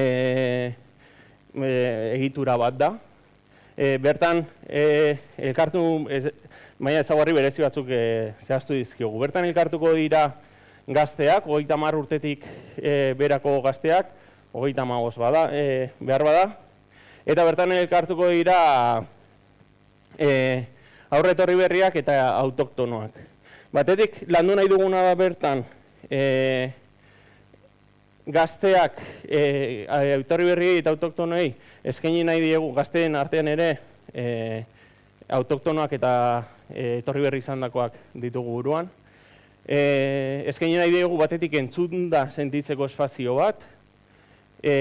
e, egitura bat da. E, bertan, e, elkartu, baina ezaguarri berezi batzuk e, zehaztu dizkiogu. Bertan elkartuko dira gazteak, hogeita hamar urtetik e, berako gazteak, hogeita hamabost bada, e, behar bada. Eta bertan elkartuko dira e, aurre etorri berriak eta autoktonoak. Batetik, landu nahi duguna da bertan, e, gazteak, e, etorri berriei eta autoktonoei eskaini nahi diegu gazteen artean ere e, autoktonoak eta e, etorri berri izandakoak ditugu buruan. E, eskaini nahi diegu batetik entzunda sentitzeko espazio bat, e,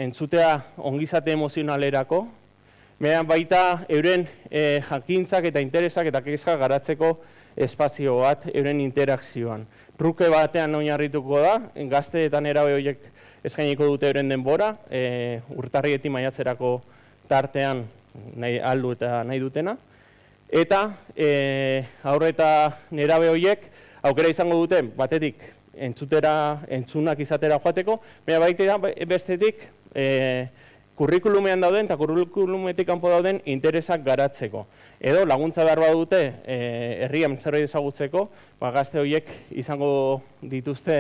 entzutea ongizate emozionalerako, baita euren e, jakintzak eta interesak eta kezkak garatzeko espazio bat euren interakzioan. Truke batean oinarrituko da, gazte eta nerabe horiek eskainiko dute euren denbora, e, urtarrietik maiatzerako tartean nahi, aldu eta nahi dutena. Eta e, aurre eta nerabe horiek aukera izango dute batetik entzutera, entzunak izatera joateko, baina baita bestetik e, kurrikulumean dauden eta kurrikulumetik kanpo dauden interesak garatzeko. Edo laguntza behar badute herrian zerbait ezagutzeko, gazte horiek izango dituzte,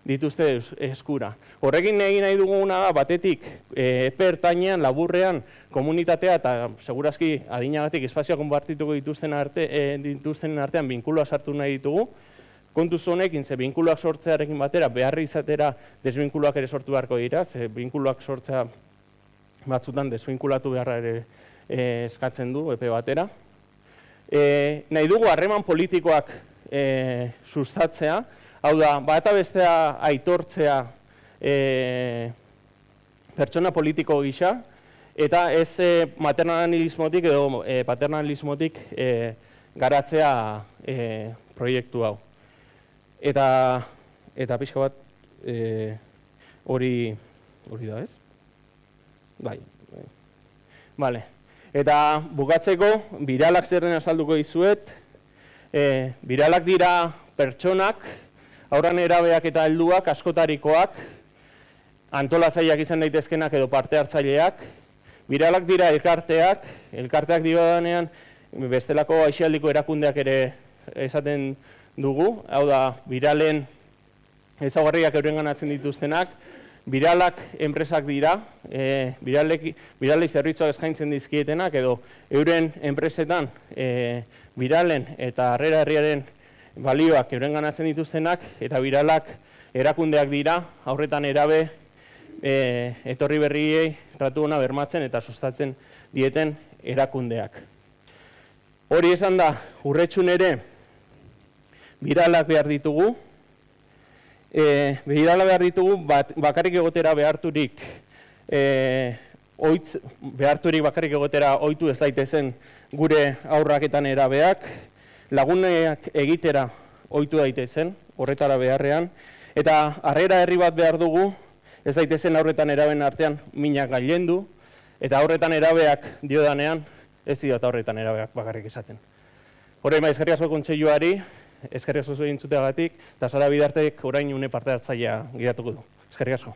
dituzte eskura. Horrekin egin nahi duguna da, batetik epe ertainean, laburrean, komunitatea eta segurazki adinagatik espazioa konpartituko dituzten, arte, e, dituzten artean binkuloa sartu nahi ditugu. Kontuz honekin, ze binkuloak sortzearekin batera, beharri izatera desbinkuloak ere sortu beharko dira, ze binkuloak sortzea batzutan desbinkulatu beharra ere e, eskatzen du epe batera. E, nahi dugu harreman politikoak e, sustatzea, hau da, bata bestea aitortzea e, pertsona politiko gisa, eta ez e, maternalismotik edo e, paternalismotik e, garatzea e, proiektu hau. Eta, eta pixka bat e, hori, hori da ez? Bai, bai. Vale. Eta bukatzeko, biralak zerren azalduko dizuet. E, biralak dira pertsonak, haurran erabeak eta helduak, askotarikoak, antolatzaileak izan daitezkenak edo parte hartzaileak. Biralak dira elkarteak, elkarteak dira danean, bestelako aisialdiko erakundeak ere esaten dugu, hau da, biralen ezaugarriak eurenganatzen dituztenak, biralak enpresak dira, e, biralei zerbitzuak eskaintzen dizkietenak, edo euren enpresetan e, biralen eta harrera herriaren balioak eurenganatzen dituztenak, eta biralak erakundeak dira, aurretan erabe e, etorri berriei tratu ona bermatzen eta sustatzen dieten erakundeak. Hori esan da, urretxun ere, biralak behar ditugu, e, birala behar ditugu bat, bakarrik egotera beharturik, e, oitz, beharturik bakarrik egotera ohitu ez daitezen gure aurraketan erabeak, laguneak egitera ohitu daitezen, horretara beharrean, eta harrera herri bat behar dugu, ez daitezen aurretan eraben artean minak gailendu, eta aurretan erabeak diodanean, ez diot aurretan erabeak bakarrik esaten. Horrein, eskerrik asko kontseiluari, eskerrik asko zuen entzuteagatik, eta Sara Bidartek orain une parte hartzailea gidatuko du. Eskerrik asko.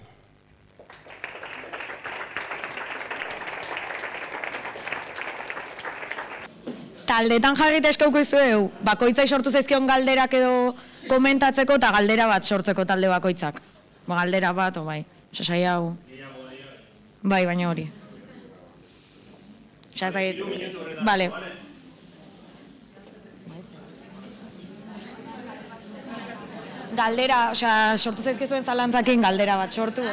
Taldetan jarrita eskauko izueu, bakoitzai sortu zaizkion galderak edo komentatzeko eta galdera bat sortzeko talde bakoitzak. Ba, galdera bat, o bai, sasai hau. Bai, baina hori. Sasai, bale. Galdera, osea, sortu zaizkezuen zalantzakin galdera bat sortu.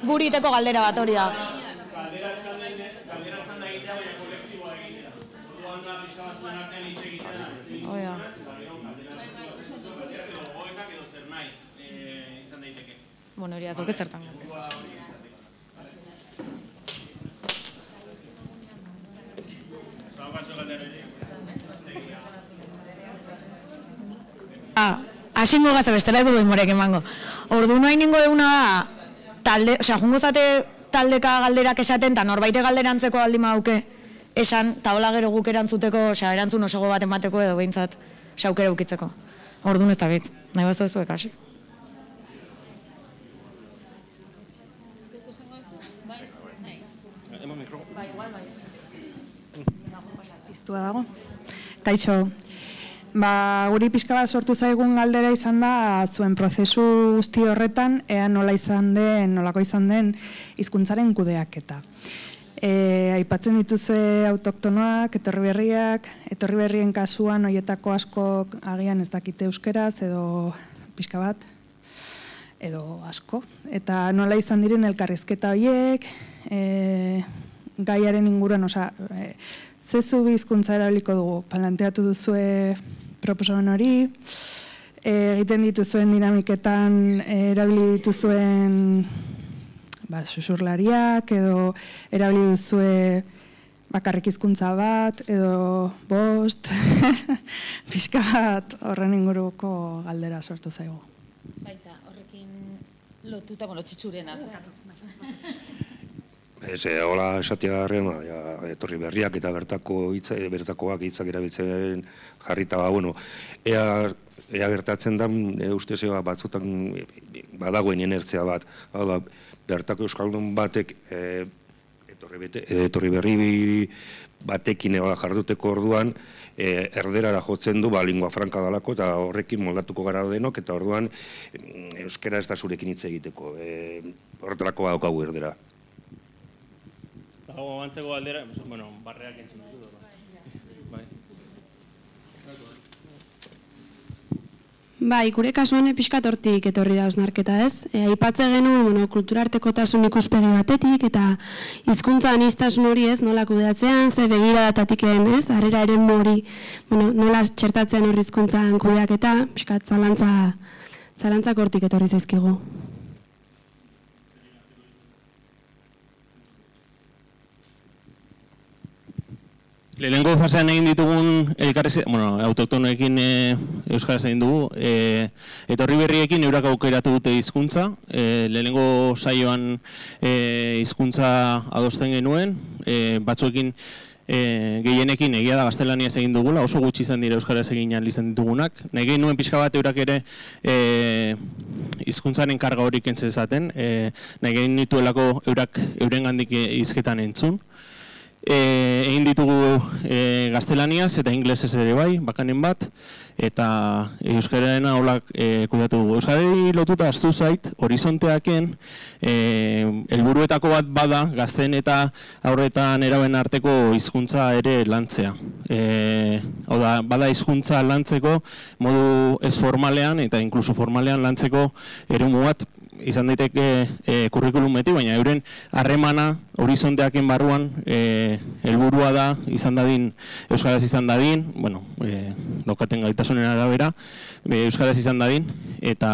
Guriteko galdera bat hori da. Galdera txanda egitea, baina kolektiboa egitea. Orduan da, pixka bat zuen artean hitz egitea. Hoi da. Edo zer nahi izan daiteke. Bueno, hori azok ezertan. Asingo gaza bestela ez dugu demorek emango. Ordu nahi ningo eguna da, talde, osea, jungo zate taldeka galderak esaten, eta norbaite galderantzeko aldi mauke esan, eta hola gero guk erantzuteko, osea, erantzun osogo bat emateko edo behintzat, osea, aukera ukitzeko. Ordu ez da bit, nahi bazu ez duek hasi. Piztua dago. Kaixo. Ba, guri pixka bat sortu zaigun galdera izan da zuen prozesu guzti horretan ea nola izan den, nolako izan den hizkuntzaren kudeaketa. E, aipatzen dituzue autoktonoak, etorri berriak, etorri berrien kasuan horietako asko agian ez dakite euskeraz edo pixka bat, edo asko. Eta nola izan diren elkarrizketa horiek, e, gaiaren inguruan, oza, e, zezu bi hizkuntza erabiliko dugu, planteatu duzue proposamen hori, egiten dituzuen dinamiketan erabili dituzuen ba, susurlariak, edo erabili duzue bakarrik hizkuntza bat, edo bost, pixka bat horren inguruko galdera sortu zaigu. Baita, horrekin lotuta, bueno, txitxurena, Ez, hola esatea garren, etorri berriak eta bertako hitza, bertakoak hitzak erabiltzen jarrita, ba, bueno, ea, ea gertatzen da, e, ustez ea batzutan badagoen inertzia bat, hau da, bertako euskaldun batek e, etorri, bete, etorri berri batekin eba jarduteko orduan, e, erderara jotzen du, ba, lingua franka dalako, eta horrekin moldatuko gara denok, eta orduan euskera ez da zurekin hitz egiteko, e, horretarako badaukagu erdera. Dago antzeko galdera, bueno, barreak entzun dut. Bai. Bai, gure kasuan pixkat hortik etorri da osnarketa, ez? E, aipatze genuen, bueno, kulturartekotasun ikuspegi batetik eta hizkuntza aniztasun hori, ez, nola kudeatzean, ze begiradatatik ez, harrera eren hori, bueno, nola txertatzean hori hizkuntzan kudeaketa, pixkat zalantza, zalantzak hortik etorri zaizkigu. Lehenengo fasean egin ditugun elkarrez, bueno, autoktonoekin e, euskaraz egin dugu, e, etorri berriekin eurak aukeratu dute hizkuntza, e, lehenengo saioan e, hizkuntza adosten genuen, e, batzuekin e, gehienekin egia da gaztelaniaz egin dugula, oso gutxi izan dira euskaraz egin izan ditugunak. Nahi nuen pixka bat eurak ere e, hizkuntzaren karga horik entzezaten, e, nahi nituelako eurak eurengandik hizketan entzun. egin ditugu gaztelaniaz eta inglesez ere bai, bakanen bat, eta euskararena holak kudatu dugu. Euskarari lotuta aztu zait, horizonteaken, helburuetako bat bada, gazten eta aurretan eraben arteko hizkuntza ere lantzea. Hau da, bada hizkuntza lantzeko modu ez formalean eta inkluso formalean lantzeko eremu bat, izan daiteke e, kurrikulumetik, baina euren harremana horizonteaken barruan helburua da izan dadin, euskaraz izan dadin, bueno, e, daukaten gaitasunen arabera, e, euskaraz izan dadin, eta,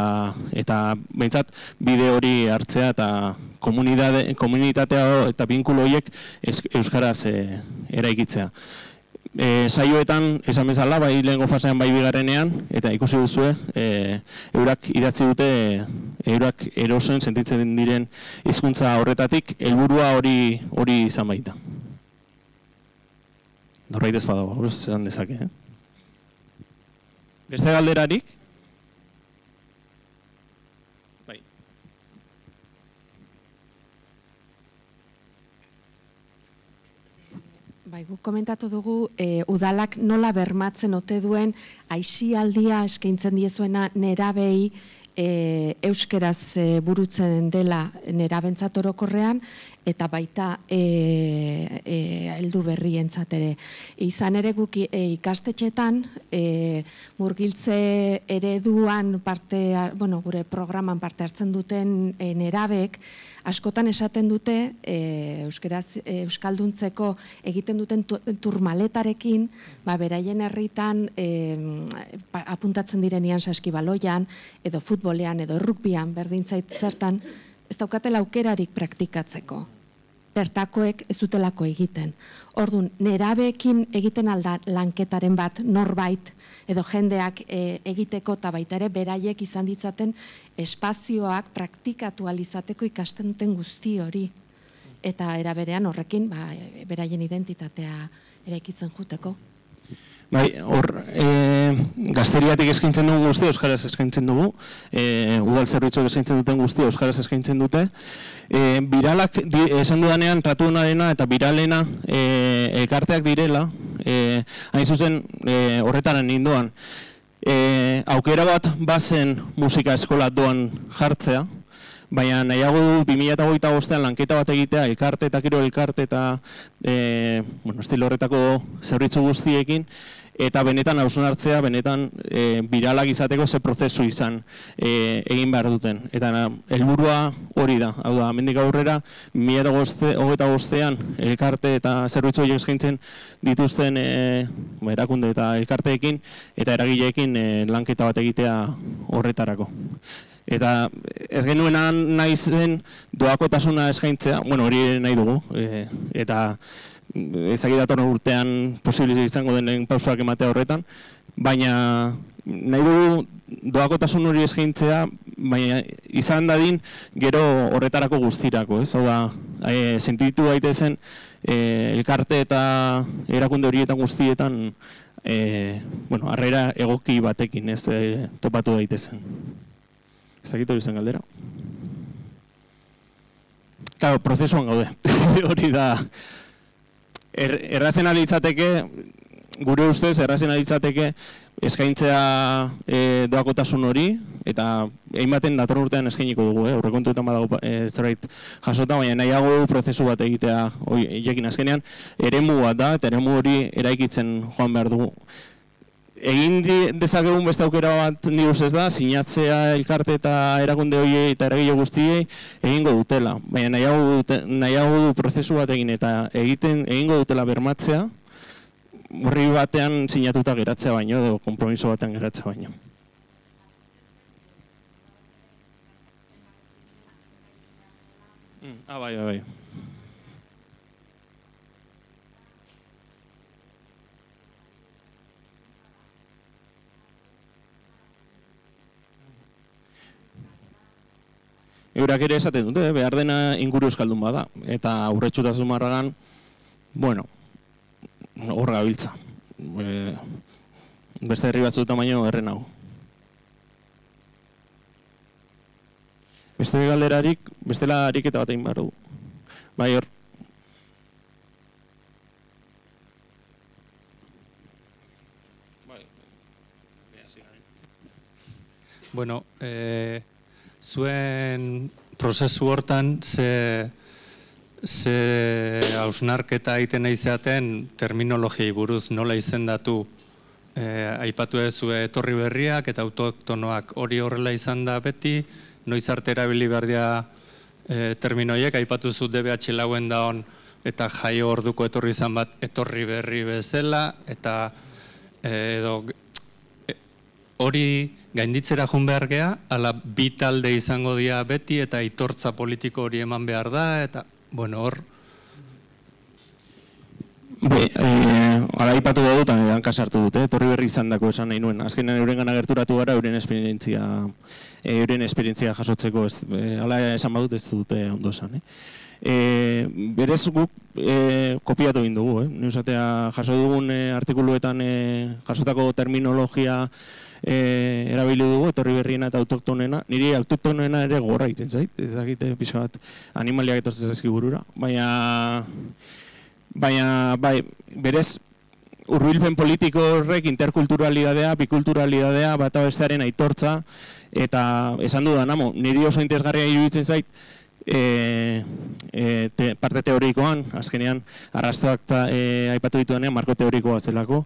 eta behintzat bide hori hartzea eta komunitatea eta binkulo horiek euskaraz e, eraikitzea. E, saioetan, esan bezala, bai lehengo fasean bai bigarrenean, eta ikusi duzue, e, eurak idatzi dute, eurak erosen sentitzen diren hizkuntza horretatik, helburua hori hori izan baita. Norbait ez badago, hori zelan dezake, eh? Beste galderarik? Bai. Bai, guk komentatu dugu, e, udalak nola bermatzen ote duen aisialdia eskaintzen diezuena nerabei e, euskeraz e, burutzen dela nerabentzat orokorrean, eta baita e, e, heldu berrientzat ere. Izan ere guk e, ikastetxetan, e, murgiltze ereduan parte, bueno, gure programan parte hartzen duten e, nerabek, askotan esaten dute, e, euskeraz, e, euskalduntzeko egiten duten turmaletarekin, ba, beraien herritan e, apuntatzen direnian saskibaloian, edo futbolean, edo rugbian, berdintzait zertan, ez daukatela aukerarik praktikatzeko. Bertakoek ez dutelako egiten. Orduan, nerabeekin egiten alda lanketaren bat norbait edo jendeak e, egiteko eta baita ere beraiek izan ditzaten espazioak praktikatu alizateko ikasten duten guzti hori. Eta eraberean horrekin ba, beraien identitatea eraikitzen juteko. Bai, hor, e, gazteriatik eskaintzen dugu guzti, euskaraz eskaintzen dugu, e, udal zerbitzuak eskaintzen duten guzti, euskaraz eskaintzen dute. E, biralak, di, esan dudanean, tratu honarena eta biralena e, elkarteak direla, e, hain zuzen e, horretaren ninduan. E, aukera bat bazen musika eskola doan jartzea, baina nahiago du bi mila hogeita bostean lanketa bat egitea, elkarte eta kiro elkarte eta e, bueno, estilo horretako zerbitzu guztiekin, eta benetan hausnartzea, benetan e, biralak izateko ze prozesu izan e, egin behar duten. Eta helburua hori da, hau da, hemendik aurrera, bi mila hogeita bostean elkarte eta zerbitzu horiek eskaintzen dituzten e, erakunde eta elkarteekin eta eragileekin e, lanketa bat egitea horretarako. Eta ez genuena nahi zen doakotasuna eskaintzea, bueno, hori nahi dugu, e, eta ezagik datorren urtean posible izango den pausoak ematea horretan, baina nahi dugu doakotasun hori eskaintzea, baina izan dadin gero horretarako guztirako, ez? Hau da, e, sentitu daitezen e, elkarte eta erakunde horietan guztietan e, bueno, harrera egoki batekin, ez, e, topatu daitezen. Ezagik hori zen galdera. Claro, prozesuan gaude, hori da. Er, errazen alitzateke, gure ustez, errazen alitzateke eskaintzea e, doakotasun hori, eta einbaten datorren urtean eskainiko dugu, eh? Aurrekontuetan badago e, zerbait jasota, baina nahiago prozesu bat egitea hoiekin azkenean, eremu bat da, eta eremu hori eraikitzen joan behar dugu. Egin dezakegun beste aukera bat ni ustez da, sinatzea elkarte eta erakunde horiei eta eragile guztiei egingo dutela. Baina nahiago, dute, nahiago du prozesu bat egin eta egiten egingo dutela bermatzea, horri batean sinatuta geratzea baino, edo konpromiso batean geratzea baino. Mm, ah, bai, bai, bai. Eurak ere esaten dute, behar dena inguru euskaldun bada, eta aurretxutasun marragan, bueno, hor gabiltza. E, beste herri batzuetan baino erren hau. Beste galderarik, bestela ariketa bat egin behar du. Bai hor. Bueno, e, zuen prozesu hortan ze, ze hausnarketa egiten nahi zeaten terminologiai buruz nola izendatu e, aipatu ezue etorri berriak eta autoktonoak hori horrela izan da beti, noiz arte erabili behar dira e, terminoiek, aipatu zu D B H lauen daon eta jaio orduko etorri izan bat etorri berri bezala, eta e, edo hori gainditzera jun behar geha, ala bi talde izango dira beti eta aitortza politiko hori eman behar da, eta, bueno, hor. Be, eh, ala ipatu dugu eta hanka sartu dute, etorri berri izan dako esan nahi nuen. Azkenean euren gana gerturatu gara, euren esperientzia, euren esperientzia jasotzeko, ez, eh, ala esan badut ez dute ondo esan. Eh? E, berez guk e, kopiatu egin dugu, eh? Neusatea jaso dugun e, artikuluetan e, jasotako terminologia e, erabili dugu, etorri berriena eta autoktonena. Niri autoktonena ere gorra egiten zait, ez dakite pixka bat animaliak etortzen zaizki burura, baina, baina bai, berez hurbilpen politiko horrek interkulturalidadea, bikulturalidadea, bata bestearen aitortza, eta esan dudan, amo, niri oso interesgarria iruditzen zait, E, e, te, parte teorikoan, azkenean arrastoak ta, e, aipatu dituenean marko teorikoa zelako.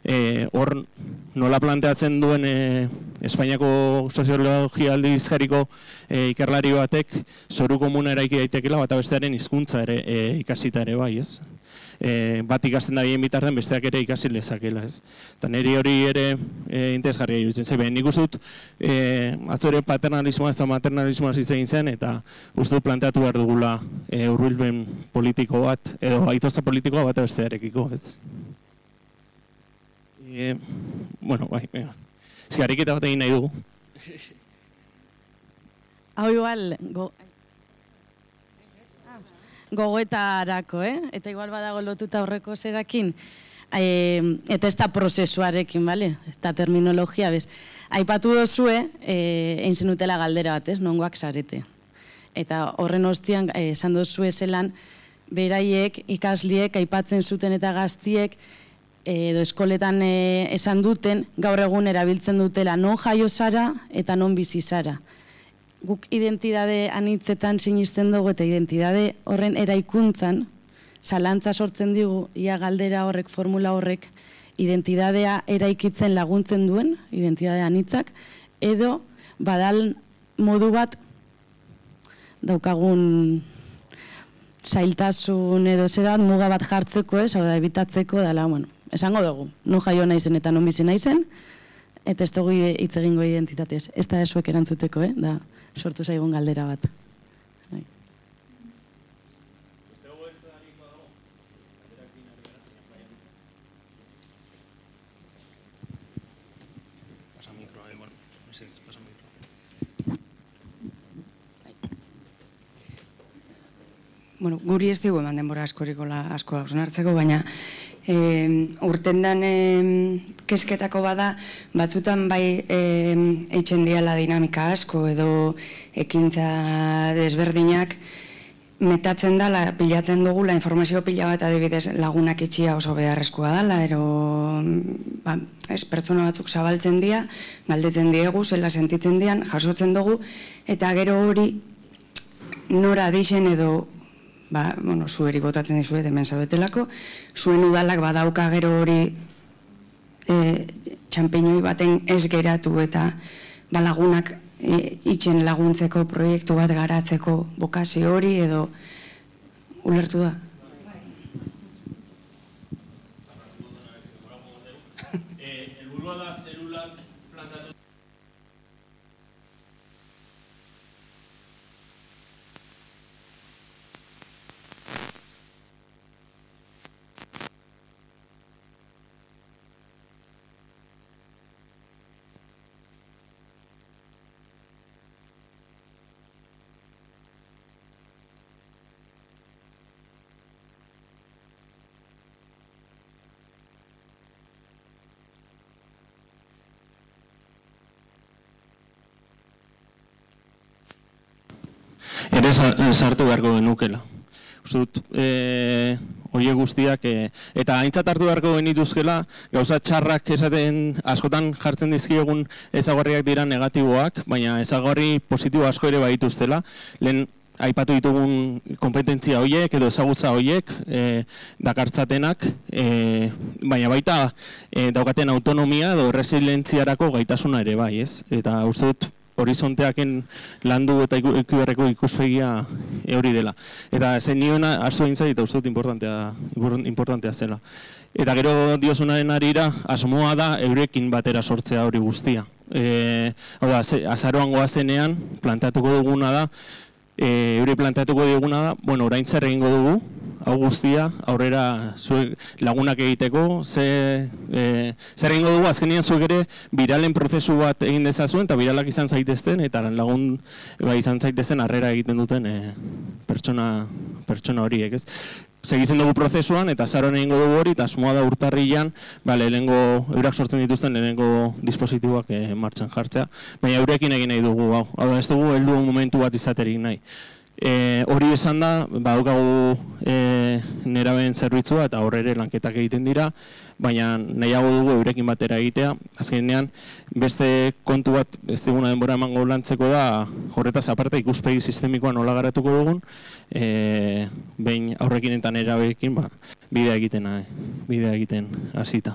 E, hor nola planteatzen duen e, Espainiako soziologia aldizkariko e, ikerlari batek zoru komuna eraiki daitekela bata bestearen hizkuntza ere e, ikasita ere bai, ez? E, bat ikasten da bien bitartean besteak ere ikasi lezakela, ez? Eta niri hori ere e, interesgarria iruditzen zaiben. Nik uste dut e, atzore paternalismoa eta maternalismoa hitz egin zen, eta uste dut planteatu behar dugula e, hurbilpen politiko bat, edo aitortza politikoa bat bestearekiko, ez? E, bueno, bai, venga. Zigariketa bat egin nahi dugu. Hau igual, go... gogoetarako, eh? Eta igual badago lotuta aurreko zerakin, e, eta ez da prozesuarekin, bale? Eta terminologia, bez. Aipatu dozue, e, egin zenutela galdera bat, ez? Nongoak zarete. Eta horren ostian, esan dozue zelan, beraiek, ikasliek, aipatzen zuten eta gaztiek, edo eskoletan e, esan duten, gaur egun erabiltzen dutela non jaio zara eta non bizi zara. Guk identidade anitzetan sinisten dugu eta identidade horren eraikuntzan, zalantza sortzen digu, ia galdera horrek, formula horrek, identidadea eraikitzen laguntzen duen, identidade anitzak, edo badal modu bat daukagun zailtasun edo zera muga bat jartzeko, ez, hau da, ebitatzeko, dala, bueno, esango dugu, non jaio naizen eta non bizi naizen, eta ez dugu hitz egingo identitatez. Ez da esuek erantzuteko, eh? Da, sortu zaigun galdera bat. Bai. Pasa mikroa, eh, bueno, ez ez, pasa mikroa. Bueno, guri ez dugu eman denbora askorikola asko hausnartzeko, baina e, urtendan e, kesketako bada, batzutan bai e, eitzen diala dinamika asko edo ekintza desberdinak metatzen dala, pilatzen dugula, informazio pila bat adibidez lagunak itxia oso beharrezkoa dala, ero ba, ez, pertsona batzuk zabaltzen dira, galdetzen diegu, zela sentitzen dian, jasotzen dugu, eta gero hori nora dixen edo ba, bueno, zueri botatzen dizuet hemen zaudetelako, zuen udalak badauka gero hori e, txampiñoi baten ez geratu eta balagunak e, itxen laguntzeko proiektu bat garatzeko bokazio hori edo ulertu da? Helburua da zelulak plantatu. Ere sartu beharko genukela. Uste dut, e, horiek guztiak, e, eta aintzat hartu beharko genituzkela, gauza txarrak esaten askotan jartzen dizkiegun ezaugarriak dira negatiboak, baina ezaugarri positibo asko ere badituztela. Lehen aipatu ditugun kompetentzia horiek edo ezagutza horiek e, dakartzatenak, e, baina baita e, daukaten autonomia edo resilientziarako gaitasuna ere bai, ez? Eta uste dut horizonteaken landu eta ikuberreko ikuspegia hori dela. Eta zen nioena astu egin zait eta uste dut importantea, importantea zela. Eta gero diozunaren arira, asmoa da eurekin batera sortzea hori guztia. E, hau da, azaroan goazenean planteatuko duguna da, E, eure planteatuko diguna da, bueno, orain zer egingo dugu, hau guztia, aurrera zuek lagunak egiteko, ze, e, zer egingo dugu, azkenean zuek ere biralen prozesu bat egin dezazuen, eta biralak izan zaitezten, eta lagun ba, izan zaitezten harrera egiten duten e, pertsona, pertsona horiek, ez? Segitzen dugu prozesuan, eta azaroan egingo dugu hori, eta asmoa da urtarrilan, ba, lehenengo, eurak sortzen dituzten lehenengo dispositiboak e, martxan jartzea, baina eurekin egin nahi dugu, hau, hau da ez dugu heldu momentu bat izaterik nahi. E, hori esan da, badaukagu e, nerabeen zerbitzua eta horre lanketak egiten dira, baina nahiago dugu eurekin batera egitea. Azkenean, beste kontu bat ez diguna denbora emango lantzeko da, horretaz aparte ikuspegi sistemikoa nola garatuko dugun, e, behin aurrekin eta nerabeekin ba, bidea egiten, bidea egiten hasita.